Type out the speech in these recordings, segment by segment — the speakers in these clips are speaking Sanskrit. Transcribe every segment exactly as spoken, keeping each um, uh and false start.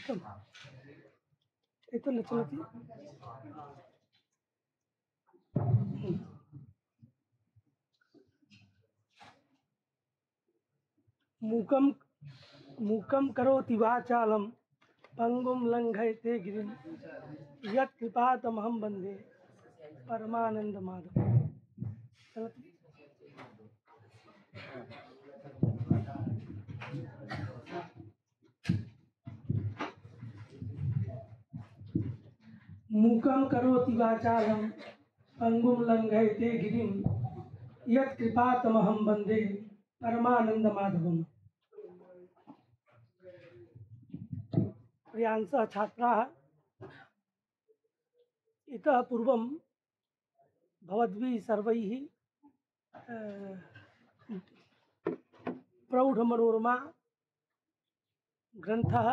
उत्तम एतत् न चलति। मूकं मूकं करोति वाचालं पंगुं लंघयते गिरिं यत्कृपातमहं वन्दे परमानन्दमाधवम्। चलति। मूकं करोति वाचालं पंगुं लंघयते गिरिं यत्कृपातमहं वन्दे परमानन्दमाधवम्। प्रियांसः छात्राः, इतः पूर्वं भवद्भिः सर्वैः प्रौढमनोरमा ग्रन्थः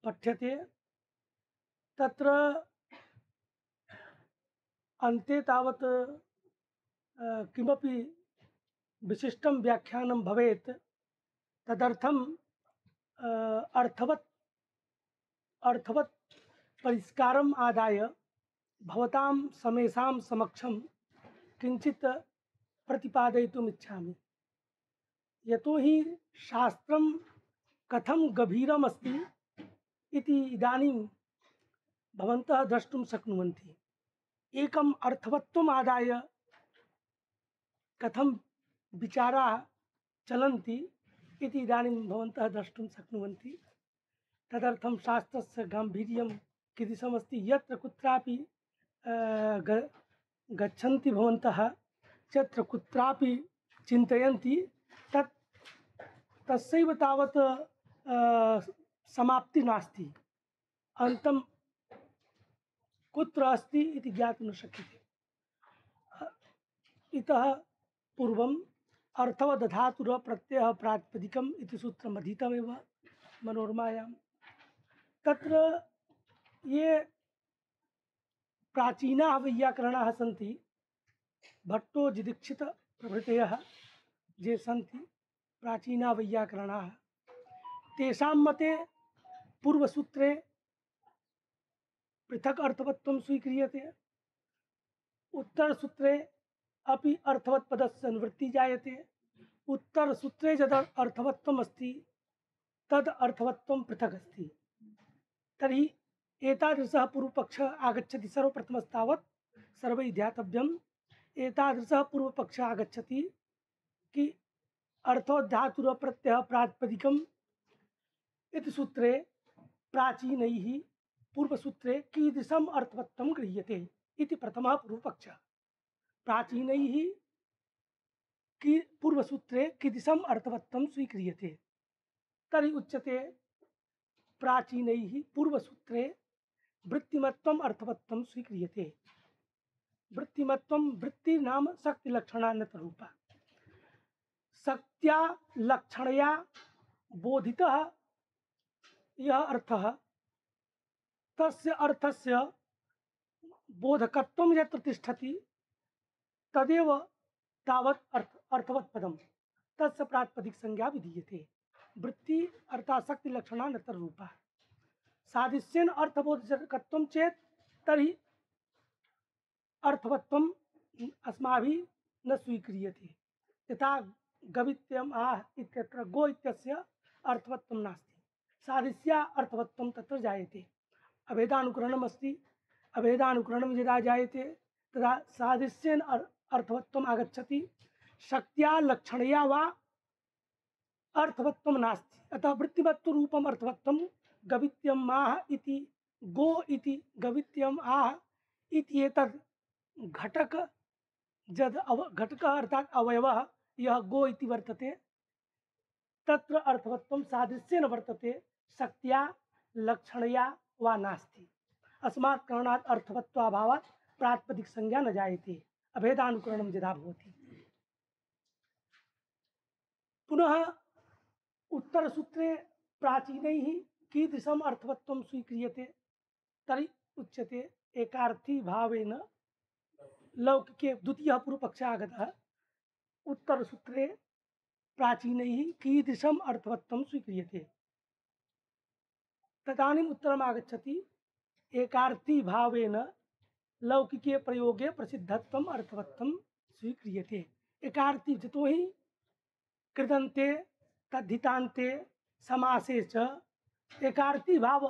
पठ्यते। तत्र अन्ते तावत् किमपि विशिष्टं व्याख्यानं भवेत्, तदर्थं अर्थवत् अर्थवत् परिष्कारम् आदाय भवतां समेषां समक्षं किञ्चित् प्रतिपादयितुम् इच्छामि। यतोहि शास्त्रं कथं गभीरम् अस्ति इति इदानीं भवन्तः द्रष्टुं शक्नुवन्ति। एकम् अर्थवत्त्वम् आदाय कथं विचाराः चलन्ति इति इदानीं भवन्तः द्रष्टुं शक्नुवन्ति। तदर्थं शास्त्रस्य गाम्भीर्यं कीदृशमस्ति, यत्र कुत्रापि गच्छन्ति भवन्तः, यत्र कुत्रापि चिन्तयन्ति, तत् तस्यैव तावत् समाप्ति नास्ति, अन्तं कुत्र अस्ति इति ज्ञातुं न शक्यते। इतः पूर्वम् अर्थवदधातुर प्रत्ययः प्रातिपदिकम् इति सूत्रम् अधीतमेव मनोरमायां। तत्र ये प्राचीनाः वैयाकरणाः सन्ति, भट्टो जिदीक्षित प्रभृतयः ये सन्ति प्राचीनाः वैयाकरणाः, तेषां मते पूर्वसूत्रे पृथक् अर्थवत्त्वं स्वीक्रियते, उत्तरसूत्रे अपि अर्थवत् पदस्य निवृत्ति जायते। उत्तरसूत्रे यद् अर्थवत्त्वम् अस्ति तद् अर्थवत्त्वं पृथक् अस्ति। तर्हि एतादृशः पूर्वपक्षः आगच्छति। सर्वप्रथमस्तावत् सर्वैः ध्यातव्यम्, एतादृशः पूर्वपक्षः आगच्छति कि अर्थवद्धातुरः प्रत्ययः प्रातिपदिकम् इति सूत्रे प्राचीनैः पूर्वसूत्रे कीदृशम् अर्थवत्त्वं गृह्यते इति प्रथमः पूर्वपक्षः। प्राचीनैः की पूर्वसूत्रे कीदृशम् अर्थवत्त्वं स्वीक्रियते, तर्हि उच्यते प्राचीनैः पूर्वसूत्रे वृत्तिमत्वम् अर्थवत्त्वं स्वीक्रियते। वृत्तिमत्वं, वृत्ति नाम शक्तिलक्षणान्यतरूपा। शक्त्या लक्षणया बोधितः यः अर्थः, तस्य अर्थस्य बोधकत्वं यत्र तिष्ठति तदेव तावत् अर्थ अर्थवत् पदं, तस्य प्रातिपदिक संज्ञा विधीयते। वृत्ति अर्थात् शक्ति लक्षणान्यतर रूपा। सादृश्येन अर्थबोधकत्वं चेत् तर्हि अर्थवत्वम् अस्माभिः न स्वीक्रियते। यथा गवित्यम् आह इत्यत्र गो इत्यस्य अर्थवत्वं नास्ति, सादृश्या अर्थवत्वं तत्र जायते। अभेदानुकरणम् अस्ति, अभेदानुकरणं यदा जायते तदा सादृश्येन अर्थवत्वम् आगच्छति, शक्त्या लक्षणया वा अर्थवत्वं नास्ति। अतः वृत्तिवत्त्वरूपम् अर्थवत्वं गवित्यम् आह इति, गो इति गवित्यम् आह इति एतद् घटक जद् अव घटकः अर्थात् अवयवः यः गो इति वर्तते, तत्र अर्थवत्वं सादृश्येन वर्तते, शक्त्या लक्षणया वा नास्ति। अस्मात् कारणात् अर्थवत्वाभावात् प्रातिपदिक संज्ञा न जायते, अभेदानुकरणं यदा भवति। पुनः उत्तरसूत्रे प्राचीनैः कीदृशम् अर्थवत्वं स्वीक्रियते, तर्हि उच्यते एकार्थी भावेन लौकिके। द्वितीयः पूर्वपक्षः आगतः, उत्तरसूत्रे प्राचीनैः कीदृशम् अर्थवत्वं स्वीक्रियते। तदानीम् उत्तरम् आगच्छति एकार्थी भावेन लौकिके प्रयोगे प्रसिद्धत्वम् अर्थवत्वं स्वीक्रियते। एकार्थी जतो ही कृदन्ते तद्धितान्ते समासे च एकार्थी भाव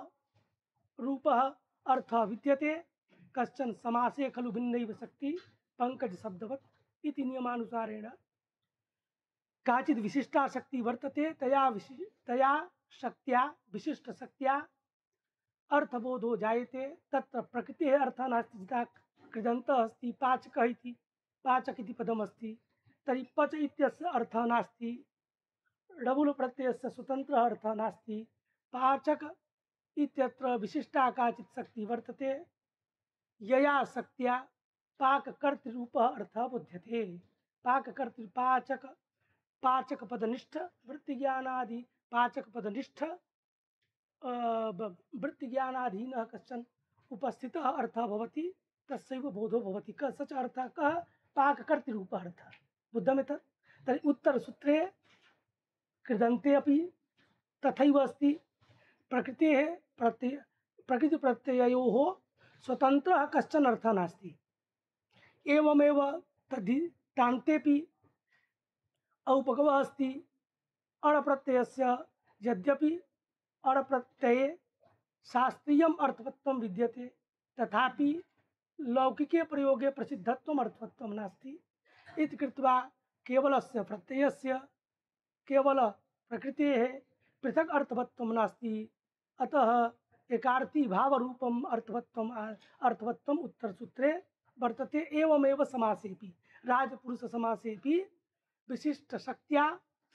रूपः अर्थः विद्यते। कश्चन समासे खलु भिन्नैव शक्ति पंकज शब्दवत् इति नियमानुसारेण काचित् विशिष्टा शक्ति वर्तते। तया विशि तया शक्त्या विशिष्ट शक्त्या अर्थबोधो जायते। तत्र प्रकृतेः अर्थः नास्ति। जिता कृदन्तः अस्ति पाचकः इति पाचक इति पदमस्ति, तर्हि पच इत्यस्य अर्थः नास्ति। डबुल प्रत्ययस्य स्वतन्त्रः अर्थः नास्ति। पाचक इत्यत्र विशिष्टा काचित् शक्ति वर्तते। यया शक्त्या पाककर्तृरूपः अर्थः बुध्यते। पाककर्तृ पाचक पाचक पदनिष्ठ वृत्तिज्ञानादि पाचक पदनिष्ठ वृत्तिज्ञानाधीनः कश्चन उपस्थितः अर्थः भवति, तस्यैव बोधो भवति। क स च अर्थः कः? पाककर्तृरूपः अर्थः बुद्धम् एतत्। तर्हि उत्तरसूत्रे कृदन्ते अपि तथैव अस्ति। प्रकृतेः प्रत्यय प्रकृतिप्रत्ययोः स्वतन्त्रः कश्चन अर्थः नास्ति। एवमेव तद्धितान्तेऽपि औपगमः अस्ति। अणप्रत्ययस्य यद्यपि अणप्रत्यये शास्त्रीयम् अर्थवत्वं विद्यते, तथापि लौकिके प्रयोगे प्रसिद्धत्वम् अर्थवत्वं नास्ति। इति कृत्वा केवलस्य प्रत्ययस्य केवल प्रकृतेः पृथक् अर्थवत्वं नास्ति। अतः एकार्थी भावरूपम् अर्थवत्वम् अर्थवत्वम् उत्तरसूत्रे वर्तते। एवमेव समासेपि राजपुरुषसमासेपि विशिष्टशक्त्या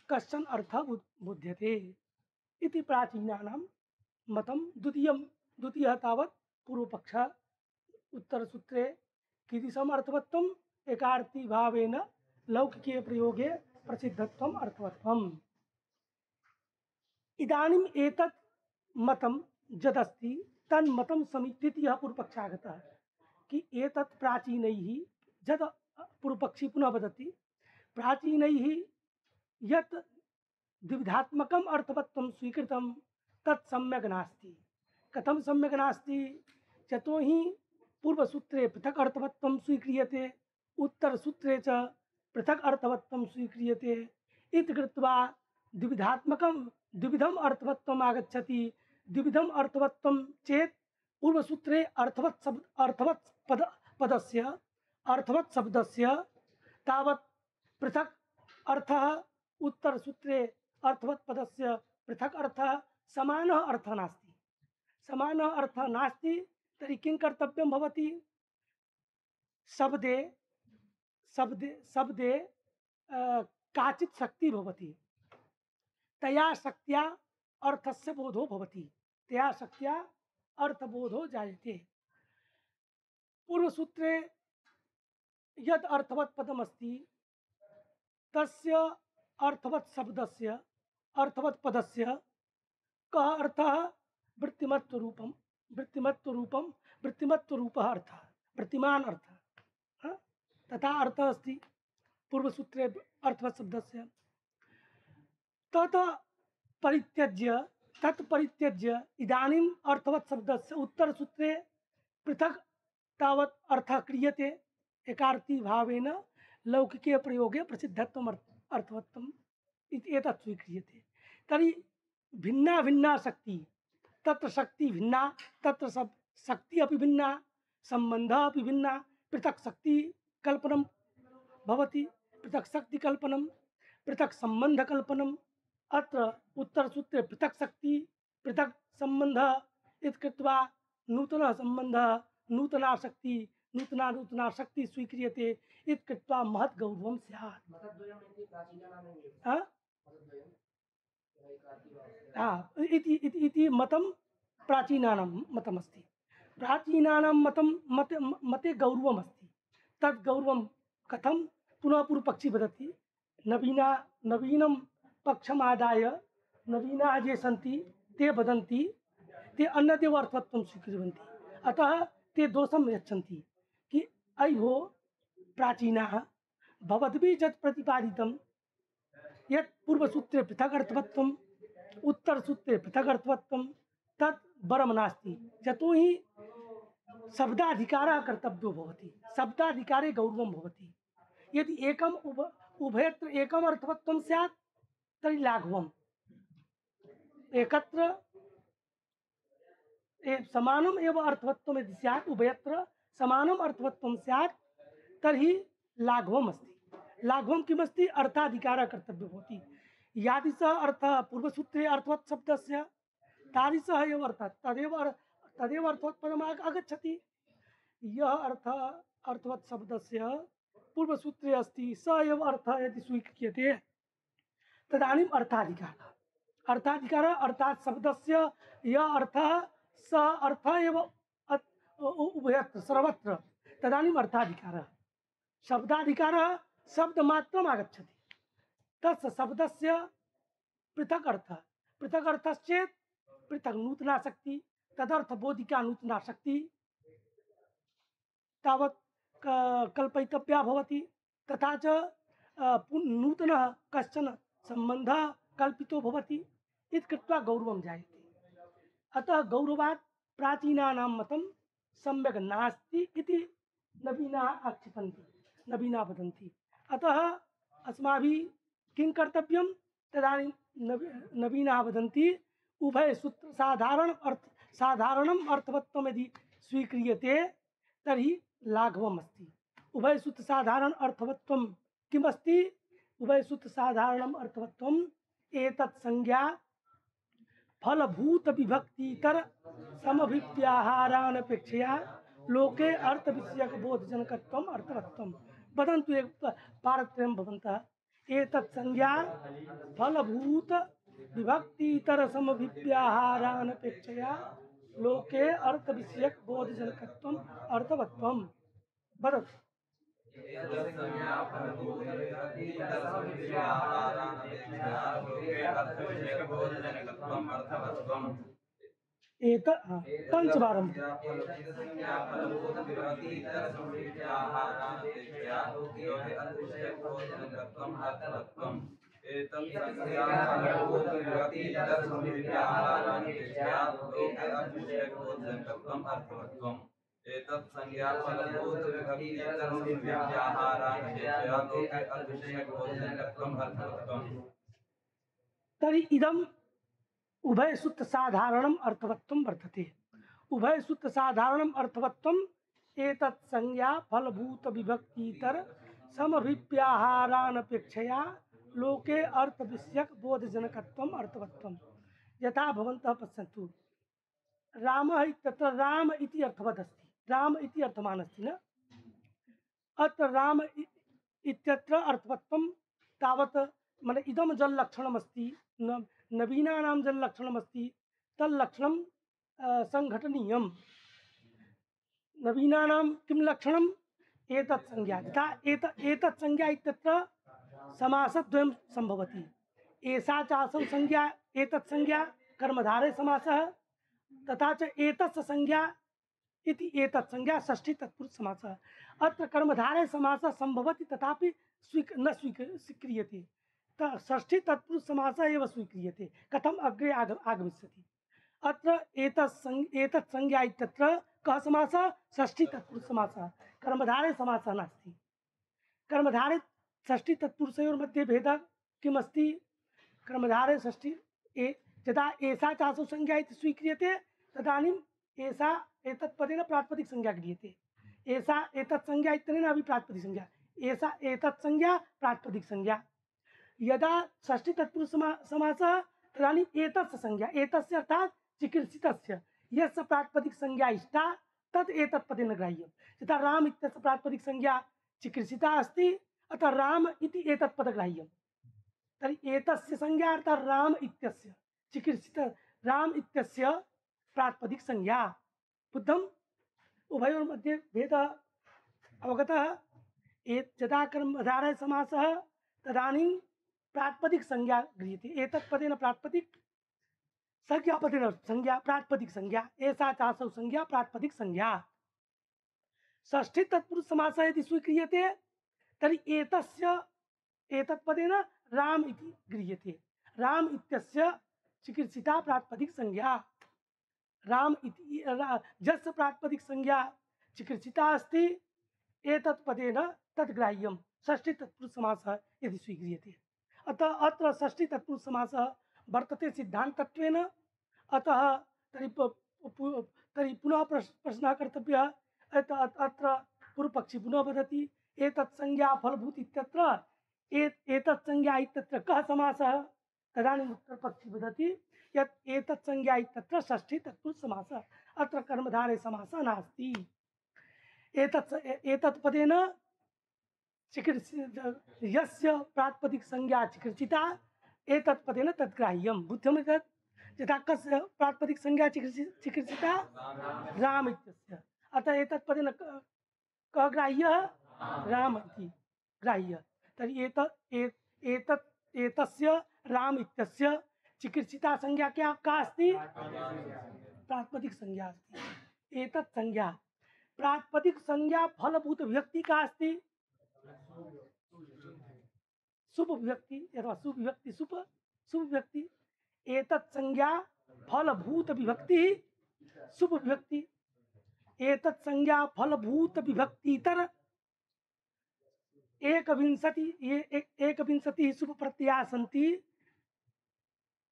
कश्चन अर्थः बुध्यते इति प्राचीनानां मतं। द्वितीयं द्वितीयः तावत् पूर्वपक्षः उत्तरसूत्रे कीदृशम् अर्थवत्वम् एकार्थी भावेन लौकिके प्रयोगे प्रसिद्धत्वम् अर्थवत्वम्। इदानीम् एतत् मतं यदस्ति तन्मतं समीकृत्य यः पूर्वपक्षः आगतः कि एतत् प्राचीनैः यद् पूर्वपक्षी पुनः वदति प्राचीनैः यत् द्विविधात्मकम् अर्थवत्वं स्वीकृतं तत् सम्यक् नास्ति। कथं सम्यक् नास्ति? यतो हि पूर्वसूत्रे पृथक् अर्थवत्वं स्वीक्रियते, उत्तरसूत्रे च पृथक् अर्थवत्वं स्वीक्रियते। इति कृत्वा द्विविधात्मकं द्विविधम् अर्थवत्वम् आगच्छति। द्विविधम् अर्थवत्वं चेत् पूर्वसूत्रे अर्थवत् शब्द अर्थवत् पद पदस्य अर्थवत् शब्दस्य तावत् पृथक् अर्थः, उत्तरसूत्रे अर्थवत् पदस्य पृथक् अर्थः, समानः अर्थः नास्ति। समानः अर्थः नास्ति तर्हि किं कर्तव्यं भवति? शब्दे शब्दे शब्दे काचित् शक्ति भवति, तया शक्त्या अर्थस्य बोधो भवति, तया शक्त्या अर्थबोधो जायते। पूर्वसूत्रे यद् अर्थवत् पदमस्ति तस्य अर्थवत् शब्दस्य अर्थवत् पदस्य कः अर्थः? वृत्तिमत्वरूपं वृत्तिमत्वरूपं वृत्तिमत्वरूपः अर्थः, वृत्तिमान् अर्थः, तथा अर्थः अस्ति पूर्वसूत्रे अर्थवत् शब्दस्य। तत् परित्यज्य तत् परित्यज्य इदानीम् अर्थवत् शब्दस्य उत्तरसूत्रे पृथक् तावत् अर्थः क्रियते। एकार्थी भावेन लौकिके प्रयोगे प्रसिद्धत्वम् अर्थवत्वम् इति एतत् स्वीक्रियते। तर्हि भिन्ना भिन्ना शक्ति, तत्र शक्ति भिन्ना, तत्र सब शक्ति अपि भिन्ना, सम्बन्धः अपि भिन्ना। पृथक् शक्ति कल्पनं भवति, पृथक् शक्ति कल्पनं, पृथक् सम्बन्ध कल्पनम्। अत्र उत्तरसूत्रे पृथक् शक्ति पृथक् सम्बन्धः इति कृत्वा नूतनः सम्बन्धः नूतना शक्ति नूतना नूतना शक्ति स्वीक्रियते। इति कृत्वा महत् गौरवं स्यात्। इति इति इति मतं प्राचीनानां मतमस्ति। प्राचीनानां मतं मते मते गौरवमस्ति। तद् गौरवं कथं? पुनः पूर्वपक्षी वदति नवीना नवीनं पक्षमादाय नवीनाः ये सन्ति ते वदन्ति ते अन्यदेव अर्थवत्वं स्वीकुर्वन्ति। अतः ते दोषं यच्छन्ति कि अयि भो प्राचीनाः भवद्भिः यत् प्रतिपादितं यत् पूर्वसूत्रे पृथक् अर्थवत्वम् उत्तरसूत्रे पृथक् अर्थवत्वं तत् वरम नास्ति यतो हि शब्दाधिकारः कर्तव्यो भवति शब्दाधिकारे गौरवं भवति यदि एकम उभ उभयत्र एकम अर्थवत्वं स्यात् तर्हि लाघवम् एकत्र ए- समानम एव अर्थवत्वम् यदि स्यात् उभयत्र समानम अर्थवत्वं स्यात् तर्हि लाघवम् अस्ति लाघवं किमस्ति अर्थाधिकारः कर्तव्यो भवति यादृशः अर्थः पूर्वसूत्रे अर्थवत् शब्दस्य तादृशः एव अर्थः तदेव अर- तदेव अर्थवत् पदम् आग- आगच्छति यह अर्थः अर्थवत् शब्दस्य पूर्वसूत्रे अस्ति स एव अर्थः यदि स्वीक्रियते तदानीम् अर्थाधिकारः अर्थाधिकारः अर्थात् शब्दस्य यः अर्थः स अर्थः एव अत्- उ- उभयत्र सर्वत्र तदानीम् अर्थाधिकारः शब्दाधिकारः शब्दमात्रम् आगच्छति तस्य शब्दस्य पृथक् अर्थः पृथक् अर्थश्चेत् पृथक् नूतनासक्ति तदर्थबोधिका नूतनासक्ति तावत् क- कल्पयितव्या भवति तथा च अ, पुन- नूतनः कश्चन सम्बन्धः कल्पितो भवति इति कृत्वा गौरवं जायते अतः गौरवात् प्राचीनानां मतं सम्यक् नास्ति इति नवीनाः आक्षिपन्ति नवीनाः वदन्ति अतः अस्माभिः किं कर्तव्यं तदानीं नवी नवीनाः वदन्ति उभयसूत्र साधारण अर्थ साधारणम् अर्थवत्वं यदि स्वीक्रियते तर्हि लाघवम् अस्ति उभयसूत्र साधारण अर्थवत्वं किमस्ति उभयसूत्र साधारणम् अर्थवत्वम् एतत् संज्ञा फलभूत विभक्तितर समभिव्याहारानपेक्षया लोके अर्थ विषयक बोधजनकत्वम् अर्थवत्वम् वदन्तु एक पारत्रयं भवन्तः एतत् संज्ञा फलभूत विभक्तितर समभिव्याहारानपेक्षया लोके अर्थ विषयक बोधजनकत्वम् अर्थवत्वम् वदतु एक पंचवारं एतत् संज्ञा फलभूत विभक्तितरसमव्याहारानपेक्षया लोके अर्थविषयकबोधजनकत्वम् अर्थवत्वम् तर्हि इदम् उभयसूत्र साधारणम् अर्थवत्वं वर्तते उभयसूत्र साधारणम् अर्थवत्वम् एतत् संज्ञा फलभूत विभक्तितर समभिव्याहारानपेक्षया लोके अर्थ विषयक बोधजनकत्वम् अर्थवत्वम् यथा भवन्तः पश्यन्तु रामः इत्यत्र राम इति अर्थवत् अस्ति राम इति अर्थवान् अस्ति न अत्र राम इ- इत्यत्र अर्थवत्वं तावत् माने इदं जल्लक्षणमस्ति न नवीनानां जल्लक्षणमस्ति तल्लक्षणं अ, सङ्घटनीयं नवीनानां किं लक्षणम् एतत् संज्ञा यथा एत एतत् संज्ञा इत्यत्र समासद्वयं सम्भवति एषा चासौ संज्ञा एतत् संज्ञा कर्मधारय समासः तथा च एतस्य संज्ञा इति एतत् संज्ञा षष्ठी तत्पुरुष समासः अत्र कर्मधारय समासः सम्भवति तथापि स्वीक न स्वीक स्वीक्रियते त षष्ठी तत्पुरुष समासः एव स्वीक्रियते कथम् अग्रे आग आगमिष्यति अत्र एतत् सं एतत् संज्ञा इत्यत्र कः समासः षष्ठी तत्पुरुष समासः कर्मधारय समासः नास्ति कर्मधारय षष्ठी तत्पुरुषयोर्मध्ये भेदः किमस्ति कर्मधारय षष्ठी ए यदा एषा चासौ संज्ञा इति स्वीक्रियते तदानीम् एषा एतत् पदेन प्रातिपदिक संज्ञा क्रियते एषा एतत् संज्ञा इत्यनेन अपि प्रातिपदिक संज्ञा एषा एतत् संज्ञा प्रातिपदिक संज्ञा यदा षष्ठी तत्पुरुष समा समासः तदानीम् एतस्य संज्ञा एतस्य अर्थात् चिकीर्षितस्य यस्य प्रातिपदिक संज्ञा इष्टा तत् एतत् पदेन ग्राह्यं यथा राम इत्यस्य प्रातिपदिक संज्ञा चिकीर्षिता अस्ति अतः राम इति एतत् पदग्राह्यं तर्हि एतस्य संज्ञा अर्थात् राम इत्यस्य चिकीर्षित राम इत्यस्य प्रातिपदिक संज्ञा बुद्धम् उभयोर्मध्ये भेदः अवगतः एत यदा कर्मधारय समासः तदानीं प्रातिपदिक संज्ञा गृह्यते एतत् पदेन प्रातिपदिक संज्ञा पदेन संज्ञा प्रातिपदिक संज्ञा एषा चासौ संज्ञा प्रातिपदिक संज्ञा षष्ठी तत्पुरुष समासः यदि स्वीक्रियते तर्हि एतस्य एतत् पदेन राम इति गृह्यते राम इत्यस्य चिकीर्षिता प्रातिपदिक संज्ञा राम इति रा- जस्य प्रातिपदिक संज्ञा चिकित्सिता अस्ति एतत् पदेन तद्ग्राह्यं षष्ठी तत्पुरुष समासः यदि स्वीक्रियते। अतः अत्र षष्ठी तत्पुरुष समासः वर्तते सिद्धान्तत्वेन। अतः तर्हि प- पु- तर्हि पुनः प्रश्- प्रश्नः कर्तव्यः। अत- अत- अत्र पूर्वपक्षी पुनः वदति एतत् संज्ञा फलभूत इत्यत्र ए- एतत् संज्ञा इत्यत्र कः समासः? तदानीम् उत्तरपक्षी वदति यत् एतत् संज्ञा इत्यत्र षष्ठी तत्पुरुष समासः, अत्र कर्मधारय समासः नास्ति। एतत् एतत् पदेन चिकित्सित यस्य प्रातिपदिक संज्ञा चिकित्सिता एतत् पदेन तद्ग्राह्यं बुद्धम्। एतत् यथा कस्य प्रातिपदिक संज्ञा चिकित्सि- चिकित्सिता राम इत्यस्य, अतः एतत् पदेन क- कः ग्राह्यः? राम इति ग्राह्यः। तर्हि एतत् ए- एतत् एतस्य राम इत्यस्य चिकित्सिता संज्ञा क्या का अस्ति? प्रातिपदिक संज्ञा अस्ति। एतत् संज्ञा प्रातिपदिक संज्ञा फलभूत विभक्ति का अस्ति? शुभ विभक्ति अथवा शुभ विभक्ति शुभ शुभ विभक्ति। एतत् संज्ञा फलभूत विभक्ति शुभ विभक्ति। एतत् संज्ञा फलभूत विभक्तितर एकविंशति ये एक एकविंशति शुभ प्रत्यया सन्ति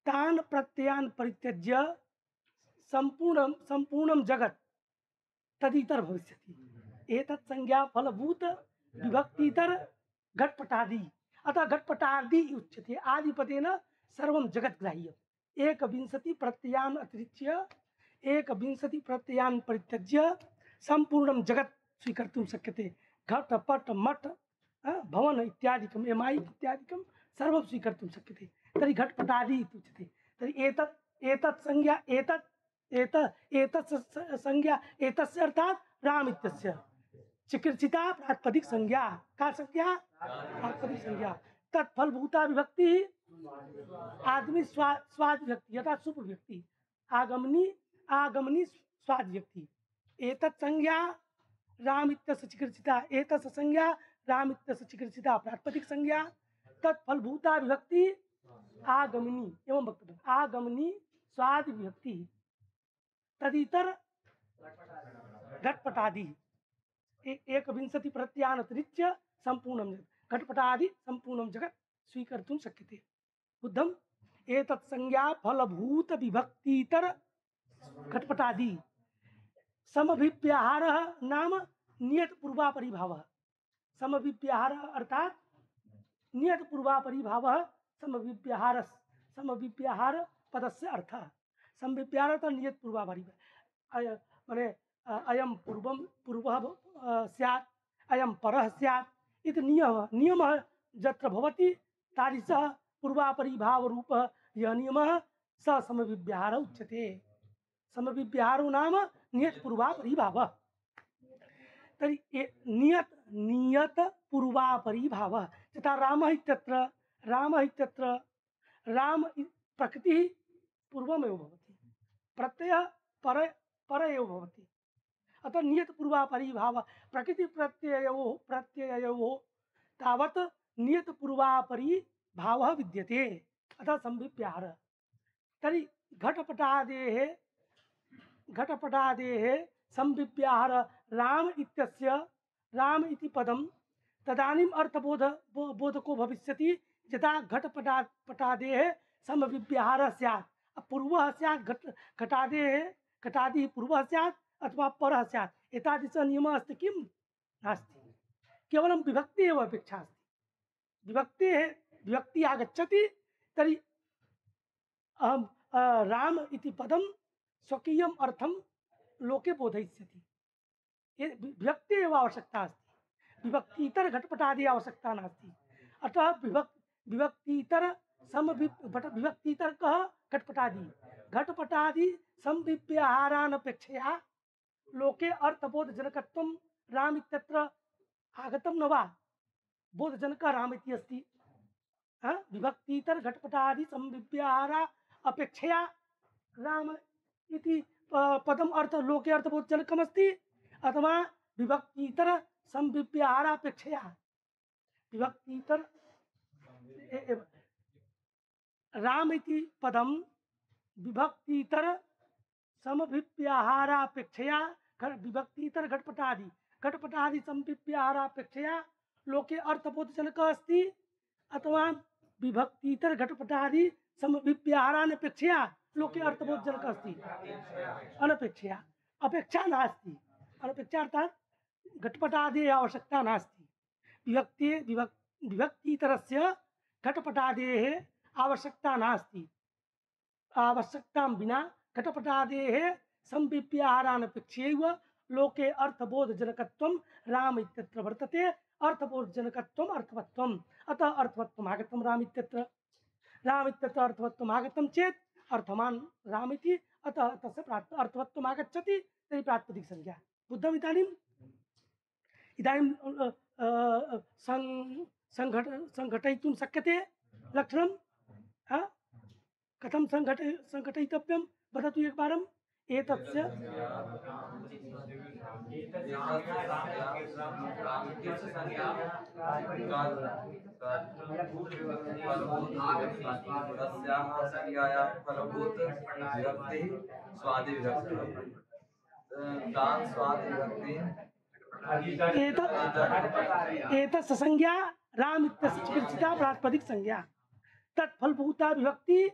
तान प्रत्ययान परित्यज्य संपूर्ण संपूर्णं जगत् तदितर भविष्यति। एतत् संज्ञा फलभूत विभक्तितर घटपटादि, अतः घटपटादि उच्यते। आदिपदेन सर्वं जगत् ग्राह्यम्। एकविंशति प्रत्ययान् अतिरिच्य एकविंशति प्रत्ययान् परित्यज्य संपूर्णं जगत् स्वीकर्तुं शक्यते। घट पट मठ अ, भवन इत्यादिकम् एमायि इत्यादिकं सर्वं स्वीकर्तुं शक्यते। तर्हि घटपटादि इति उच्यते। तर्हि एतत् एतत् संज्ञा एतत् एत एतत् स- संज्ञा एतस्य अर्थात् राम इत्यस्य चिकित्सिता प्रातिपदिक संज्ञा का संज्ञा? प्रातिपदिक संज्ञा। तत्फलभूता विभक्ति आदमी स्वा स्वाद विभक्ति यथा सुप विभक्ति आगमनी आगमनी स्वाद विभक्ति। एतत् संज्ञा राम इत्यस्य चिकित्सिता एतस्य संज्ञा राम इत्यस्य चिकित्सिता प्रातिपदिक संज्ञा। तत्फलभूता विभक्ति आगमनी एवं वक्तव्यम्। आगमनी स्वाद विभक्ति तदितर घटपटादि एकविंशति प्रत्ययान् अतिरिच्य संपूर्णं जगत् घटपटादि संपूर्णं जगत् स्वीकर्तुं शक्यते। बुद्धम्। एतत् संज्ञा फलभूत विभक्तितर घटपटादि समभिव्याहारः नाम नियत पूर्वापरिभावः। समभिव्याहारः अर्थात् नियत पूर्वापरिभावः समभिव्याहारः समभिव्याहार पदस्य अर्थः। समभिव्याहारः अर्थात् नियत पूर्वापरिभावः अय माने अ, अयं पूर्वं पूर्वः अ, स्यात् अयं परः स्यात् इति नियमः नियमः यत्र भवति तादृशः पूर्वापरिभावरूपः यः नियमः स समभिव्याहारः उच्यते। समभिव्याहारो नाम नियत पूर्वापरिभावः। तर्हि ए- नियत नियत पूर्वापरिभावः यथा रामः इत्यत्र रामः इत्यत्र राम इ- प्रकृतिः पूर्वमेव भवति, प्रत्ययः पर पर एव भवति। अतः नियत पूर्वापरिभावः प्रकृति प्रत्ययोः प्रत्ययोः तावत् नियत पूर्वापरिभावः विद्यते, अतः संभिव्याहारः। तर्हि घटपटादेः घटपटादेः संभिव्याहार राम इत्यस्य राम इति पदं तदानीम् अर्थबोध बो- बोधको भविष्यति यदा घटपटा पटादेः समभिव्याहारः स्यात्। पूर्वः स्यात् घट घटादेः घटादिः पूर्वः स्यात् अथवा परः स्यात्। एतादृशः नियमः अस्ति किं? नास्ति। केवलं विभक्ति एव अपेक्षा अस्ति। विभक्तेः विभक्ति आगच्छति तर्हि अहम अ, राम इति पदं स्वकीयम् अर्थं लोके बोधयिष्यति। ये विभक्ति एव आवश्यकता अस्ति, विभक्ति इतर घटपटादि आवश्यकता नास्ति। अतः विभक् विभक्तितर समभि विभक्तितर कः? घटपटादि। घटपटादि संविव्याहारानपेक्षया लोके अर्थबोधजनकत्वं राम इत्यत्र आगतं न वा? बोधजनकः राम इति अस्ति। हाँ? विभक्तितर घटपटादि संविव्याहारा अपेक्षया राम इति प- पदम अर्थ लोके अर्थबोधजनकम् अस्ति अथवा विभक्तितर संविव्याहारापेक्षया विभक्तितर ए- ए- राम इति पदम विभक्तितर समभिव्याहारापेक्षया विभक्तितर घटपटादि घटपटादि समभिव्याहारापेक्षया लोके अर्थबोधजनक अस्ति अथवा विभक्तितर घटपटादि समभिव्याहारानपेक्षया लोके अर्थबोधजनक अस्ति अनपेक्षया अपेक्षा नास्ति अनपेक्षा अर्थात घटपटादि आवश्यकता नास्ति विभक्ति विभक्ति विभक्तितरस्य घटपटादेः आवश्यकता नास्ति आवश्यकतां विना घटपटादेः संविव्याहारानपेक्षयैव लोके अर्थबोधजनकत्वं राम इत्यत्र वर्तते अर्थबोधजनकत्वम् अर्थवत्वम् अतः अर्थवत्वम् आगतं राम इत्यत्र राम इत्यत्र अर्थवत्वम् आगतं चेत् अर्थवान् राम इति अतः तस्य प्राप्त अर्थवत्वम् आगच्छति तर्हि प्रातिपदिक संज्ञा बुद्धम् इदानीम् इदानीं सं संघट संघटयितुं शक्यते लक्षणं हा कथं संघट संघटयितव्यं वदतु एकवारम् एतस्य एतस्य संज्ञा राम इत्यस्य चिकित्सिता प्रातिपदिक संज्ञा तत्फलभूता विभक्ति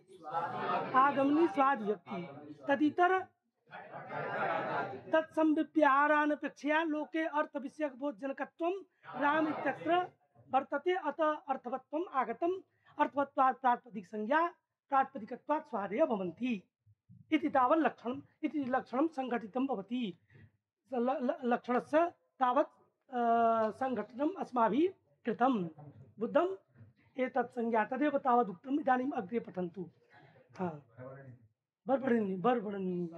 आगमनी स्वाद विभक्ति तदितर तत्संविव्याहारानपेक्षया लोके अर्थ विषयक बोधजनकत्वं राम इत्यत्र वर्तते अतः अर्थवत्वम् आगतम् अर्थवत्वात् प्रातिपदिक संज्ञा प्रातिपदिकत्वात् स्वादेय भवन्ति इति तावत् लक्षणम् इति लक्षणं संघटितं भवति लक्षणस्य तावत् संघटनम् अस्माभिः कृतं बुद्धम् एतत् संज्ञा तदेव तावत् उक्तम् इदानीम् अग्रे पठन्तु हाँ बर्बरणी बर्बरणी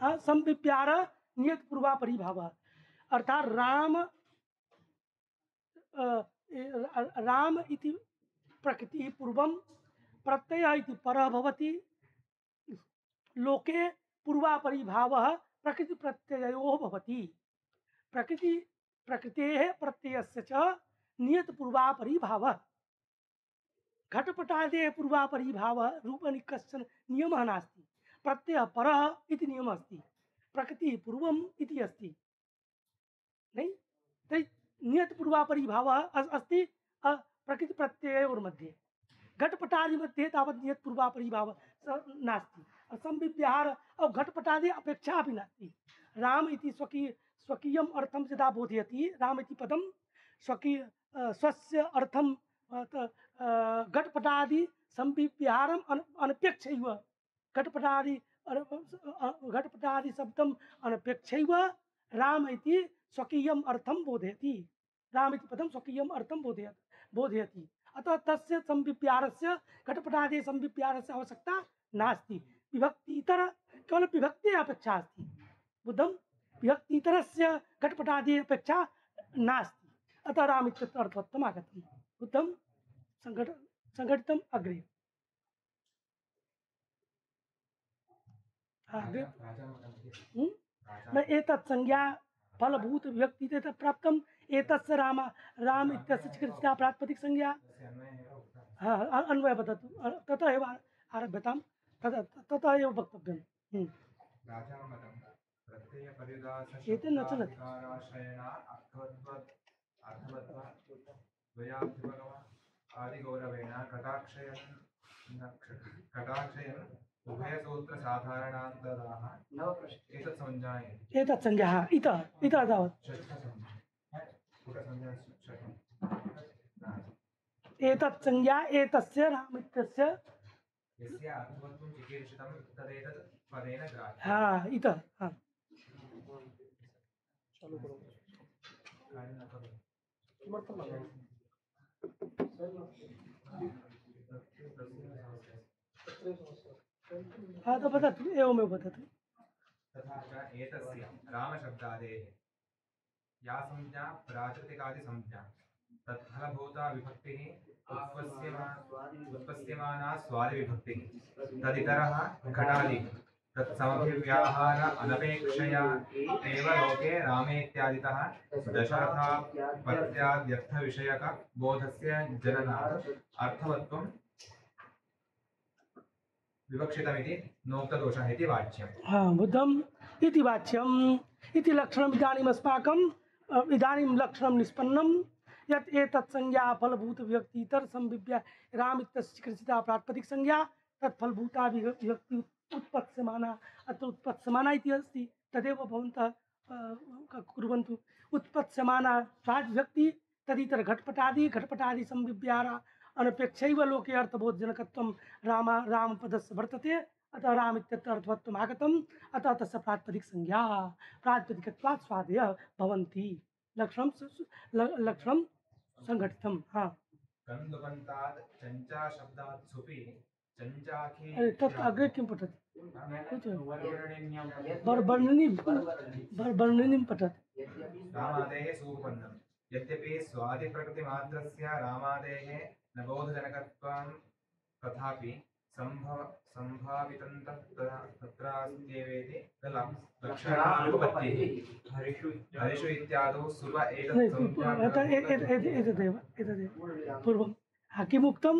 हाँ संविप्यार नियत पूर्वापरी भाव अर्थात राम राम इति प्रकृति पूर्वं प्रत्यय इति परः भवति लोके पूर्वापरी भावः प्रकृति प्रत्ययोः भवति प्रकृति प्रकृतेः प्रत्ययस्य च नियत पूर्वापरी भावः घटपटादेः पूर्वापरी भावः रूपनि कश्चन नियमः नास्ति प्रत्ययः परः इति नियमः अस्ति प्रकृतिः पूर्वम् इति अस्ति नहीं तर्हि नियत पूर्वापरी भावः अस्ति प्रकृति प्रत्ययोर्मध्ये घटपटादि मध्ये तावत् नियत पूर्वापरी भावः नास्ति संविव्याहार और घटपटादि अपेक्षा अपि नास्ति राम इति स्वकीय स्वकीयम् अर्थं यदा बोधयति राम इति पदं स्वकीय स्वस्य अर्थं घटपटादि संविव्याहारम् अनपेक्षैव घटपटादि घटपटादि शब्दम् अनपेक्षैव राम इति स्वकीयम् अर्थं बोधयति राम इति पदं स्वकीयम् अर्थं बोधयति बोधयति अतः तस्य संविव्याहारस्य घटपटादि संविव्याहारस्य आवश्यकता नास्ति विभक्तितर केवल विभक्ति अपेक्षा अस्ति बुद्धं विभक्तितरस्य घटपटादि अपेक्षा नास्ति अतः राम इत्यत्र अर्थवत्वम् आगतं बुद्धं संघट संघटितम् अग्रे अग्रे न एतत् संज्ञा फलभूत विभक्ति तत् प्राप्तम् एतस्य राम राम इत्यस्य चिकित्सा प्रातिपदिक संज्ञा हाँ अन्वय वदतु ततः एव आरभ्यताम् ततः ततः एव वक्तव्यम् एतेन न चलति आदिगौरवेण कटाक्षयन् कटाक्षयन् उभयसूत्र साधारणान्तराः एतत् संज्ञायते एतत् संज्ञा इतः इतः तावत् एतत् संज्ञा एतस्य राम इत्यस्य यस्य अर्थवत्वं चिकीर्षितं तदेतत् पदेन ग्राह्यम् हाँ इतः हाँ चालू करो किमर्थं हाँ तो वदतु एवमेव वदतु तथा च एतस्य रामशब्दादेः या संज्ञा प्राकृतिकादिसंज्ञा तत्फलभूता विभक्तिः उत्पत्स्यमा उत्पत्स्यमाना स्वादिविभक्तिः तदितरः घटादि तत्समभिव्याहार अनपेक्षया एव लोके रामेत्यादितः दशरथापत्याद्यर्थविषयक बोधस्य जननात् अर्थवत्वं विवक्षितमिति नोक्तदोषः इति वाच्यम्। हाँ बुद्धम इति वाच्यम इति लक्षणम इदानीम अस्माकं अ, इदानीं लक्षणं निष्पन्नं यत् एतत् संज्ञा फलभूत व्यक्ति इतर संविभ्य राम इत्यस्य कृषिता प्रातिपदिक संज्ञा तत् फलभूता विभक्ति उत्पत्स्यमाना अत्र उत्पत्स्यमाना इति अस्ति तदेव भवन्तः अ, क- कुर्वन्तु उत्पत्स्यमाना स्वादिभक्ति तदितर घटपटादि घटपटादि संविभ्यारा अनपेक्षैव लोके अर्थबोधजनकत्वं राम रामपदस्य वर्तते अतः राम इत्यत्र अर्थवत्वम् आगतम् अतः तस्य प्रातिपदिक संज्ञा प्रातिपदिकत्वात् स्वादयः भवन्ति लक्षणं स- स- ल- लक्षणं संघटितं हाँ गन्धुबन्तात् चञ्चा शब्दात् सुपि चञ्चाखे अरे तत् अग्रे किं पठति बर- वर्णिनीं बर- वर्णिनीं पठति रामादेः सूपबन्धम् यद्यपि स्वादिप्रकृतिमात्रस्य रामादेः न बोधजनकत्वं तथापि सम्भव सम्भावितं तत्र तत्रास्त्येवेति लक्षणानुपपत्तिः हरिषु इत्यादौ सुप नहीं, एतत् पू- पू- एत- ए- ए- ए- एतदेव एतदेव पूर्वं हा, किमुक्तं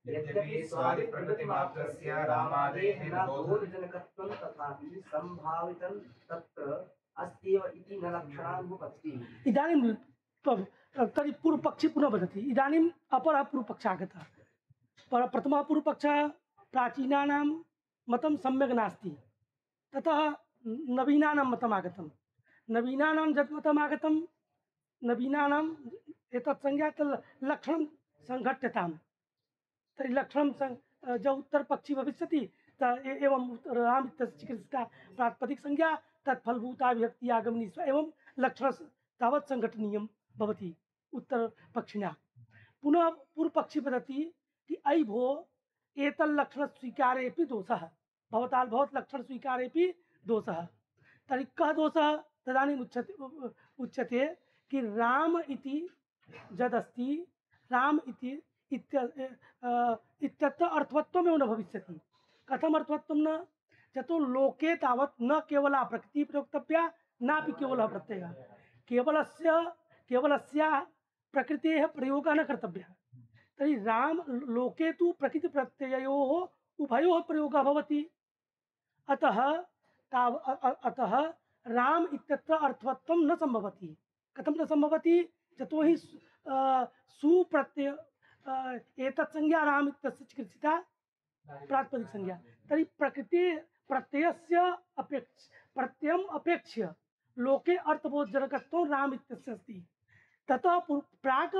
यद्यपि स्वादिप्रकृतिमात्रस्य रामादेः न बोध बोधजनकत्वं तथापि सम्भावितं तत्र अस्त्येव इति न लक्षणानुपपत्तिः। इदानीं प- तर्हि पूर्वपक्षी पुनः वदति इदानीम् अपरः पूर्वपक्षः आगतः पर प्रथमः पूर्वपक्षः प्राचीनानां मतं सम्यक् नास्ति ततः नवीनानां मतम् आगतं नवीनानां यत् मतम् आगतं नवीनानाम् एतत् संज्ञा तत् लक्षणं सङ्घट्यताम् तर्हि लक्षणं सं जो उत्तरपक्षी भविष्यति त ए- एवं राम इत्यस्य चिकित्सिता प्रातिपदिक संज्ञा तत् फलभूता विभक्ति आगमनी स्व एवं लक्षण तावत् सङ्घटनीयं भवति उत्तरपक्षिणा पुनः पूर्वपक्षी वदति कि अयि भो एतल्लक्षणस्वीकारेऽपि दोषः भवता भवत्लक्षणस्वीकारेऽपि दोषः तर्हि कः दोषः तदानीम् उच्यते उच्यते कि राम इति यदस्ति राम इति इत्य अ, इत्यत्र अर्थवत्वमेव न भविष्यति कथम् अर्थवत्वं न यतो लोके तावत् न केवला प्रकृतिः प्रयोक्तव्या नापि केवलः प्रत्ययः केवलस्य केवलस्याः प्रकृतेः प्रयोगः न कर्तव्यः तर्हि राम लोके तु प्रकृतिप्रत्यययोः उभयोः प्रयोगः भवति अतः ताव अ- अ- अतः राम इत्यत्र अर्थवत्वं न सम्भवति कथं न सम्भवति यतोहि सु- अ, सुप्रत्यय अ, एतत् संज्ञा राम इत्यस्य चिकित्सिता प्रातिपदिक संज्ञा तर्हि प्रकृति प्रत्ययस्य अपेक्ष प्रत्ययम् अपेक्ष्य लोके अर्थबोधजनकत्वं राम इत्यस्य अस्ति ततः पु- प्राक्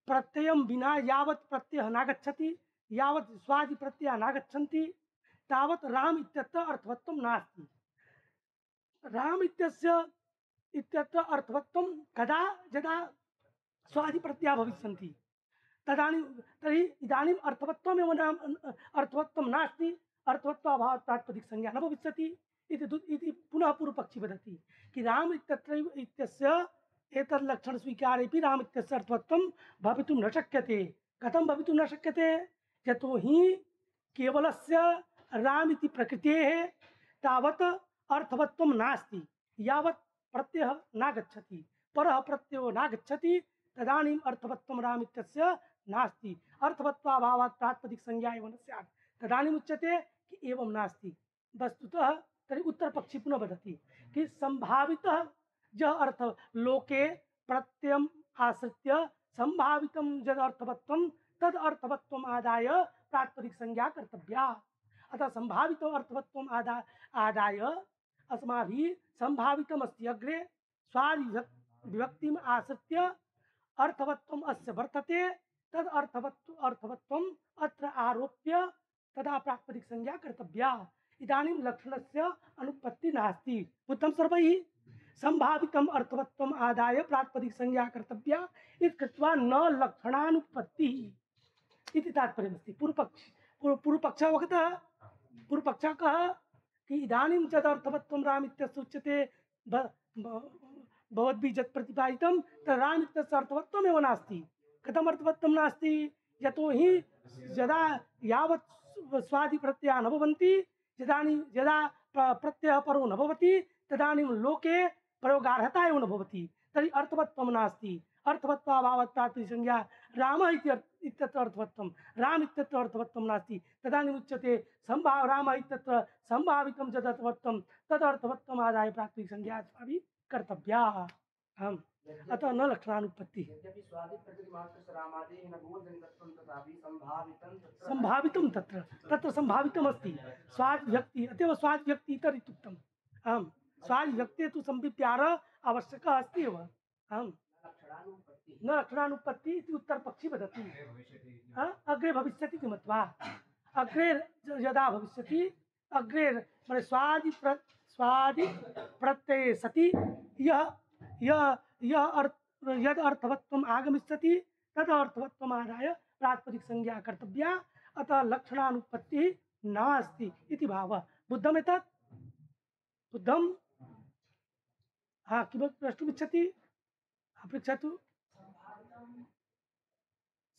प्रत्ययं विना यावत् प्रत्ययः नागच्छति यावत् स्वादि प्रत्ययाः नागच्छन्ति तावत् राम इत्यत्र अर्थवत्वं नास्ति राम इत्यस्य इत्यत्र अर्थवत्वं कदा यदा स्वादि प्रत्ययाः भविष्यन्ति तदानीं तर्हि इदानीम् अर्थवत्वमेव नाम अर्थवत्वं नास्ति अर्थवत्वाभावात् प्रातिपदिक संज्ञा न भविष्यति इति दु- इति पुनः पूर्वपक्षी वदति कि राम इत्यत्रैव इत्यस्य एतत् लक्षणस्वीकारेऽपि राम इत्यस्य अर्थवत्वं भवितुं न शक्यते कथं भवितुं न शक्यते यतोहि केवलस्य राम इति प्रकृतेः तावत् अर्थवत्वं नास्ति यावत् प्रत्ययः नागच्छति परः प्रत्ययो नागच्छति तदानीम् अर्थवत्वं राम इत्यस्य नास्ति अर्थवत्वाभावात् प्रातिपदिक संज्ञा एव न स्यात् तदानीम् उच्यते कि एवं नास्ति वस्तुतः तर्हि उत्तरपक्षी पुनः वदति कि संभावितः यः अर्थ लोके प्रत्ययम् आश्रित्य संभावितं यद् अर्थवत्वं तद् अर्थवत्वम् आदाय प्रातिपदिक संज्ञा कर्तव्या अतः संभावितं अर्थवत्वम् आदा आदाय अस्माभिः संभावितमस्ति अग्रे स्वादि विभक्तिम् आश्रित्य अर्थवत्वम् अस्य वर्तते तद् अर्थवत्व अर्थवत्वम् अत्र आरोप्य तदा प्रातिपदिक संज्ञा कर्तव्या इदानीं लक्षणस्य अनुपत्ति नास्ति उत्तम सर्वैः संभावितम् अर्थवत्वम् आदाय प्रातिपदिक संज्ञा कर्तव्या इति कृत्वा न लक्षणानुपत्तिः इति तात्पर्यमस्ति पूर्वपक्ष पूर्व- पूर्वपक्षः अवगतः पूर्वपक्षः कः कि इदानीं यदर्थवत्वं राम इत्यस्य उच्यते ब- ब- भवद्भिः यत् प्रतिपादितं तद् राम इत्यस्य अर्थवत्वमेव नास्ति कथम् अर्थवत्वं नास्ति यतोहि यदा यावत् स्वादिप्रत्ययाः न भवन्ति यदानीं यदा प्र- प्रत्ययः परो न भवति तदानीं लोके प्रयोगार्हता एव न भवति तर्हि अर्थवत्वं नास्ति अर्थवत्वाभावात् प्रातिपदिक संज्ञा रामः इति अर्थ- इत्यत्र अर्थवत्वं राम इत्यत्र अर्थवत्वं नास्ति तदानीम् उच्यते संभाव रामः इत्यत्र संभावितं यदर्थवत्वं तदर्थवत्वम् आदाय प्रातिसंज्ञा अस्माभिः कर्तव्या आम् अतः न लक्षणानुपत्तिः यद्यपि स्वादिप्रकृतिमात्रस्य रामादेः न गोजनिकत्वं तथापि सम्भावितं तत्र संभावितं तत्र तत्र संभावितमस्ति स्वाद व्यक्ति अतएव स्वाद व्यक्ति इतर इत्युक्तम् आम् स्वाद व्यक्ति तु संविप्यार आवश्यकः अस्ति एव आम् लक्षणानुपत्तिः न लक्षणानुपत्ति इति उत्तरपक्षी वदति भविष्यति हा? अग्रे भविष्यति इति मत्वा अग्रे ज- यदा भविष्यति अग्रे माने स्वादि प्र स्वादि प्रत्यये सति यः यः यः अर्थ यद अर्थवत्वम् आगमिष्यति तद अर्थवत्वम् आदाय प्रातिपदिक संज्ञा कर्तव्या अतः लक्षणानुपत्तिः नास्ति इति भावः बुद्धम् एतत् बुद्धम् हाँ किमपि प्रष्टुमिच्छति पृच्छतु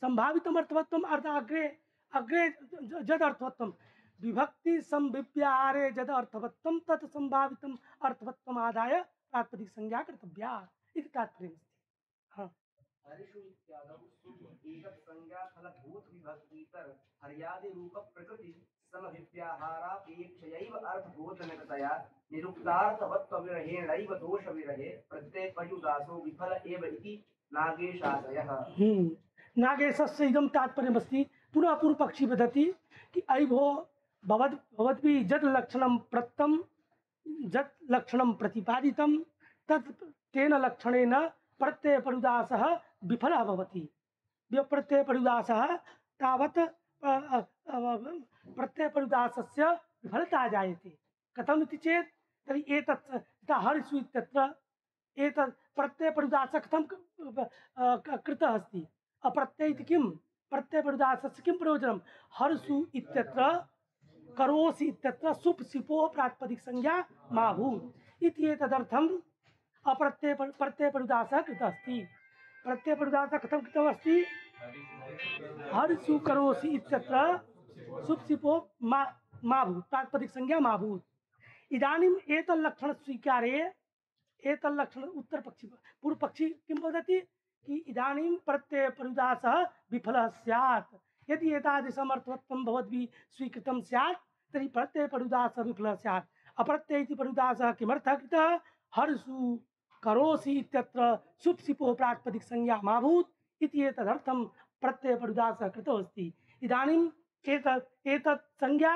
संभावितम् अर्थवत्वम् अर्थ अग्रे अग्रे ज- जद अर्थवत्वं विभक्ति संविप्यारे जद अर्थवत्वं तत् संभावितम् अर्थवत्वम् आदाय प्रातिपदिक संज्ञा कर्तव्या इति तात्पर्यमस्ति हाँ हरिषु इत्यादौ सुप् एतत् संज्ञाफलभूत विभक्तितर हर्यादि रूप प्रकृति समभिव्याहारापेक्षयैव अर्थबोधनकतया निरुक्तार्थवत्वविरहेणैव दोषविरहे प्रत्ययपर्युदासो विफल एव इति नागेशादयः। हम्म नागेशस्य इदं तात्पर्यमस्ति पुनः पूर्वपक्षी वदति कि अयि भो भवद् भवद्भिः यद् लक्षणं प्रत्तं यत् लक्षणं प्रतिपादितं तत् तेन लक्षणेन प्रत्ययपरिदासः विफलः भवति प्रत्ययपरिदासः तावत् अ, अ, अ, प्रत्ययपरिदासस्य विफलता जायते कथम् इति चेत् तर्हि एतत् यथा हरिषु इत्यत्र एतत् प्रत्ययपरिदासः कथं क- अ, क- कृतः अस्ति अप्रत्यय इति किं प्रत्ययपरिदासस्य किं प्रयोजनं हर्षु इत्यत्र करोसि इत्यत्र सुप् सिपो प्रातिपदिक संज्ञा मा भूत् इति एतदर्थम् अप्रत्यय प्रत्ययपरिदासः कृतः अस्ति प्रत्ययपरिदासः कथं कृतमस्ति हर्षु करोसि इत्यत्र सुप् सिपो मा मा भूत् प्रातिपदिक संज्ञा मा भूत् इदानीम् एतल्लक्षण स्वीकारे एतल्लक्षण उत्तरपक्षी पूर्वपक्षी किं वदति कि इदानीं प्रत्ययपरिदासः विफलः स्यात् यदि एतादृशम् अर्थवत्वं भवद्भिः स्वीकृतं स्यात् तर्हि प्रत्ययपरिदासः विफलः स्यात् अप्रत्यय इति परिदासः किमर्थः कृतः हर्षु करोसि इत्यत्र सुप् सिपो प्रातिपदिक संज्ञा मा भूत् इति एतदर्थं प्रत्ययपरिदासः कृतः अस्ति इदानीम् एतत् एतत् संज्ञा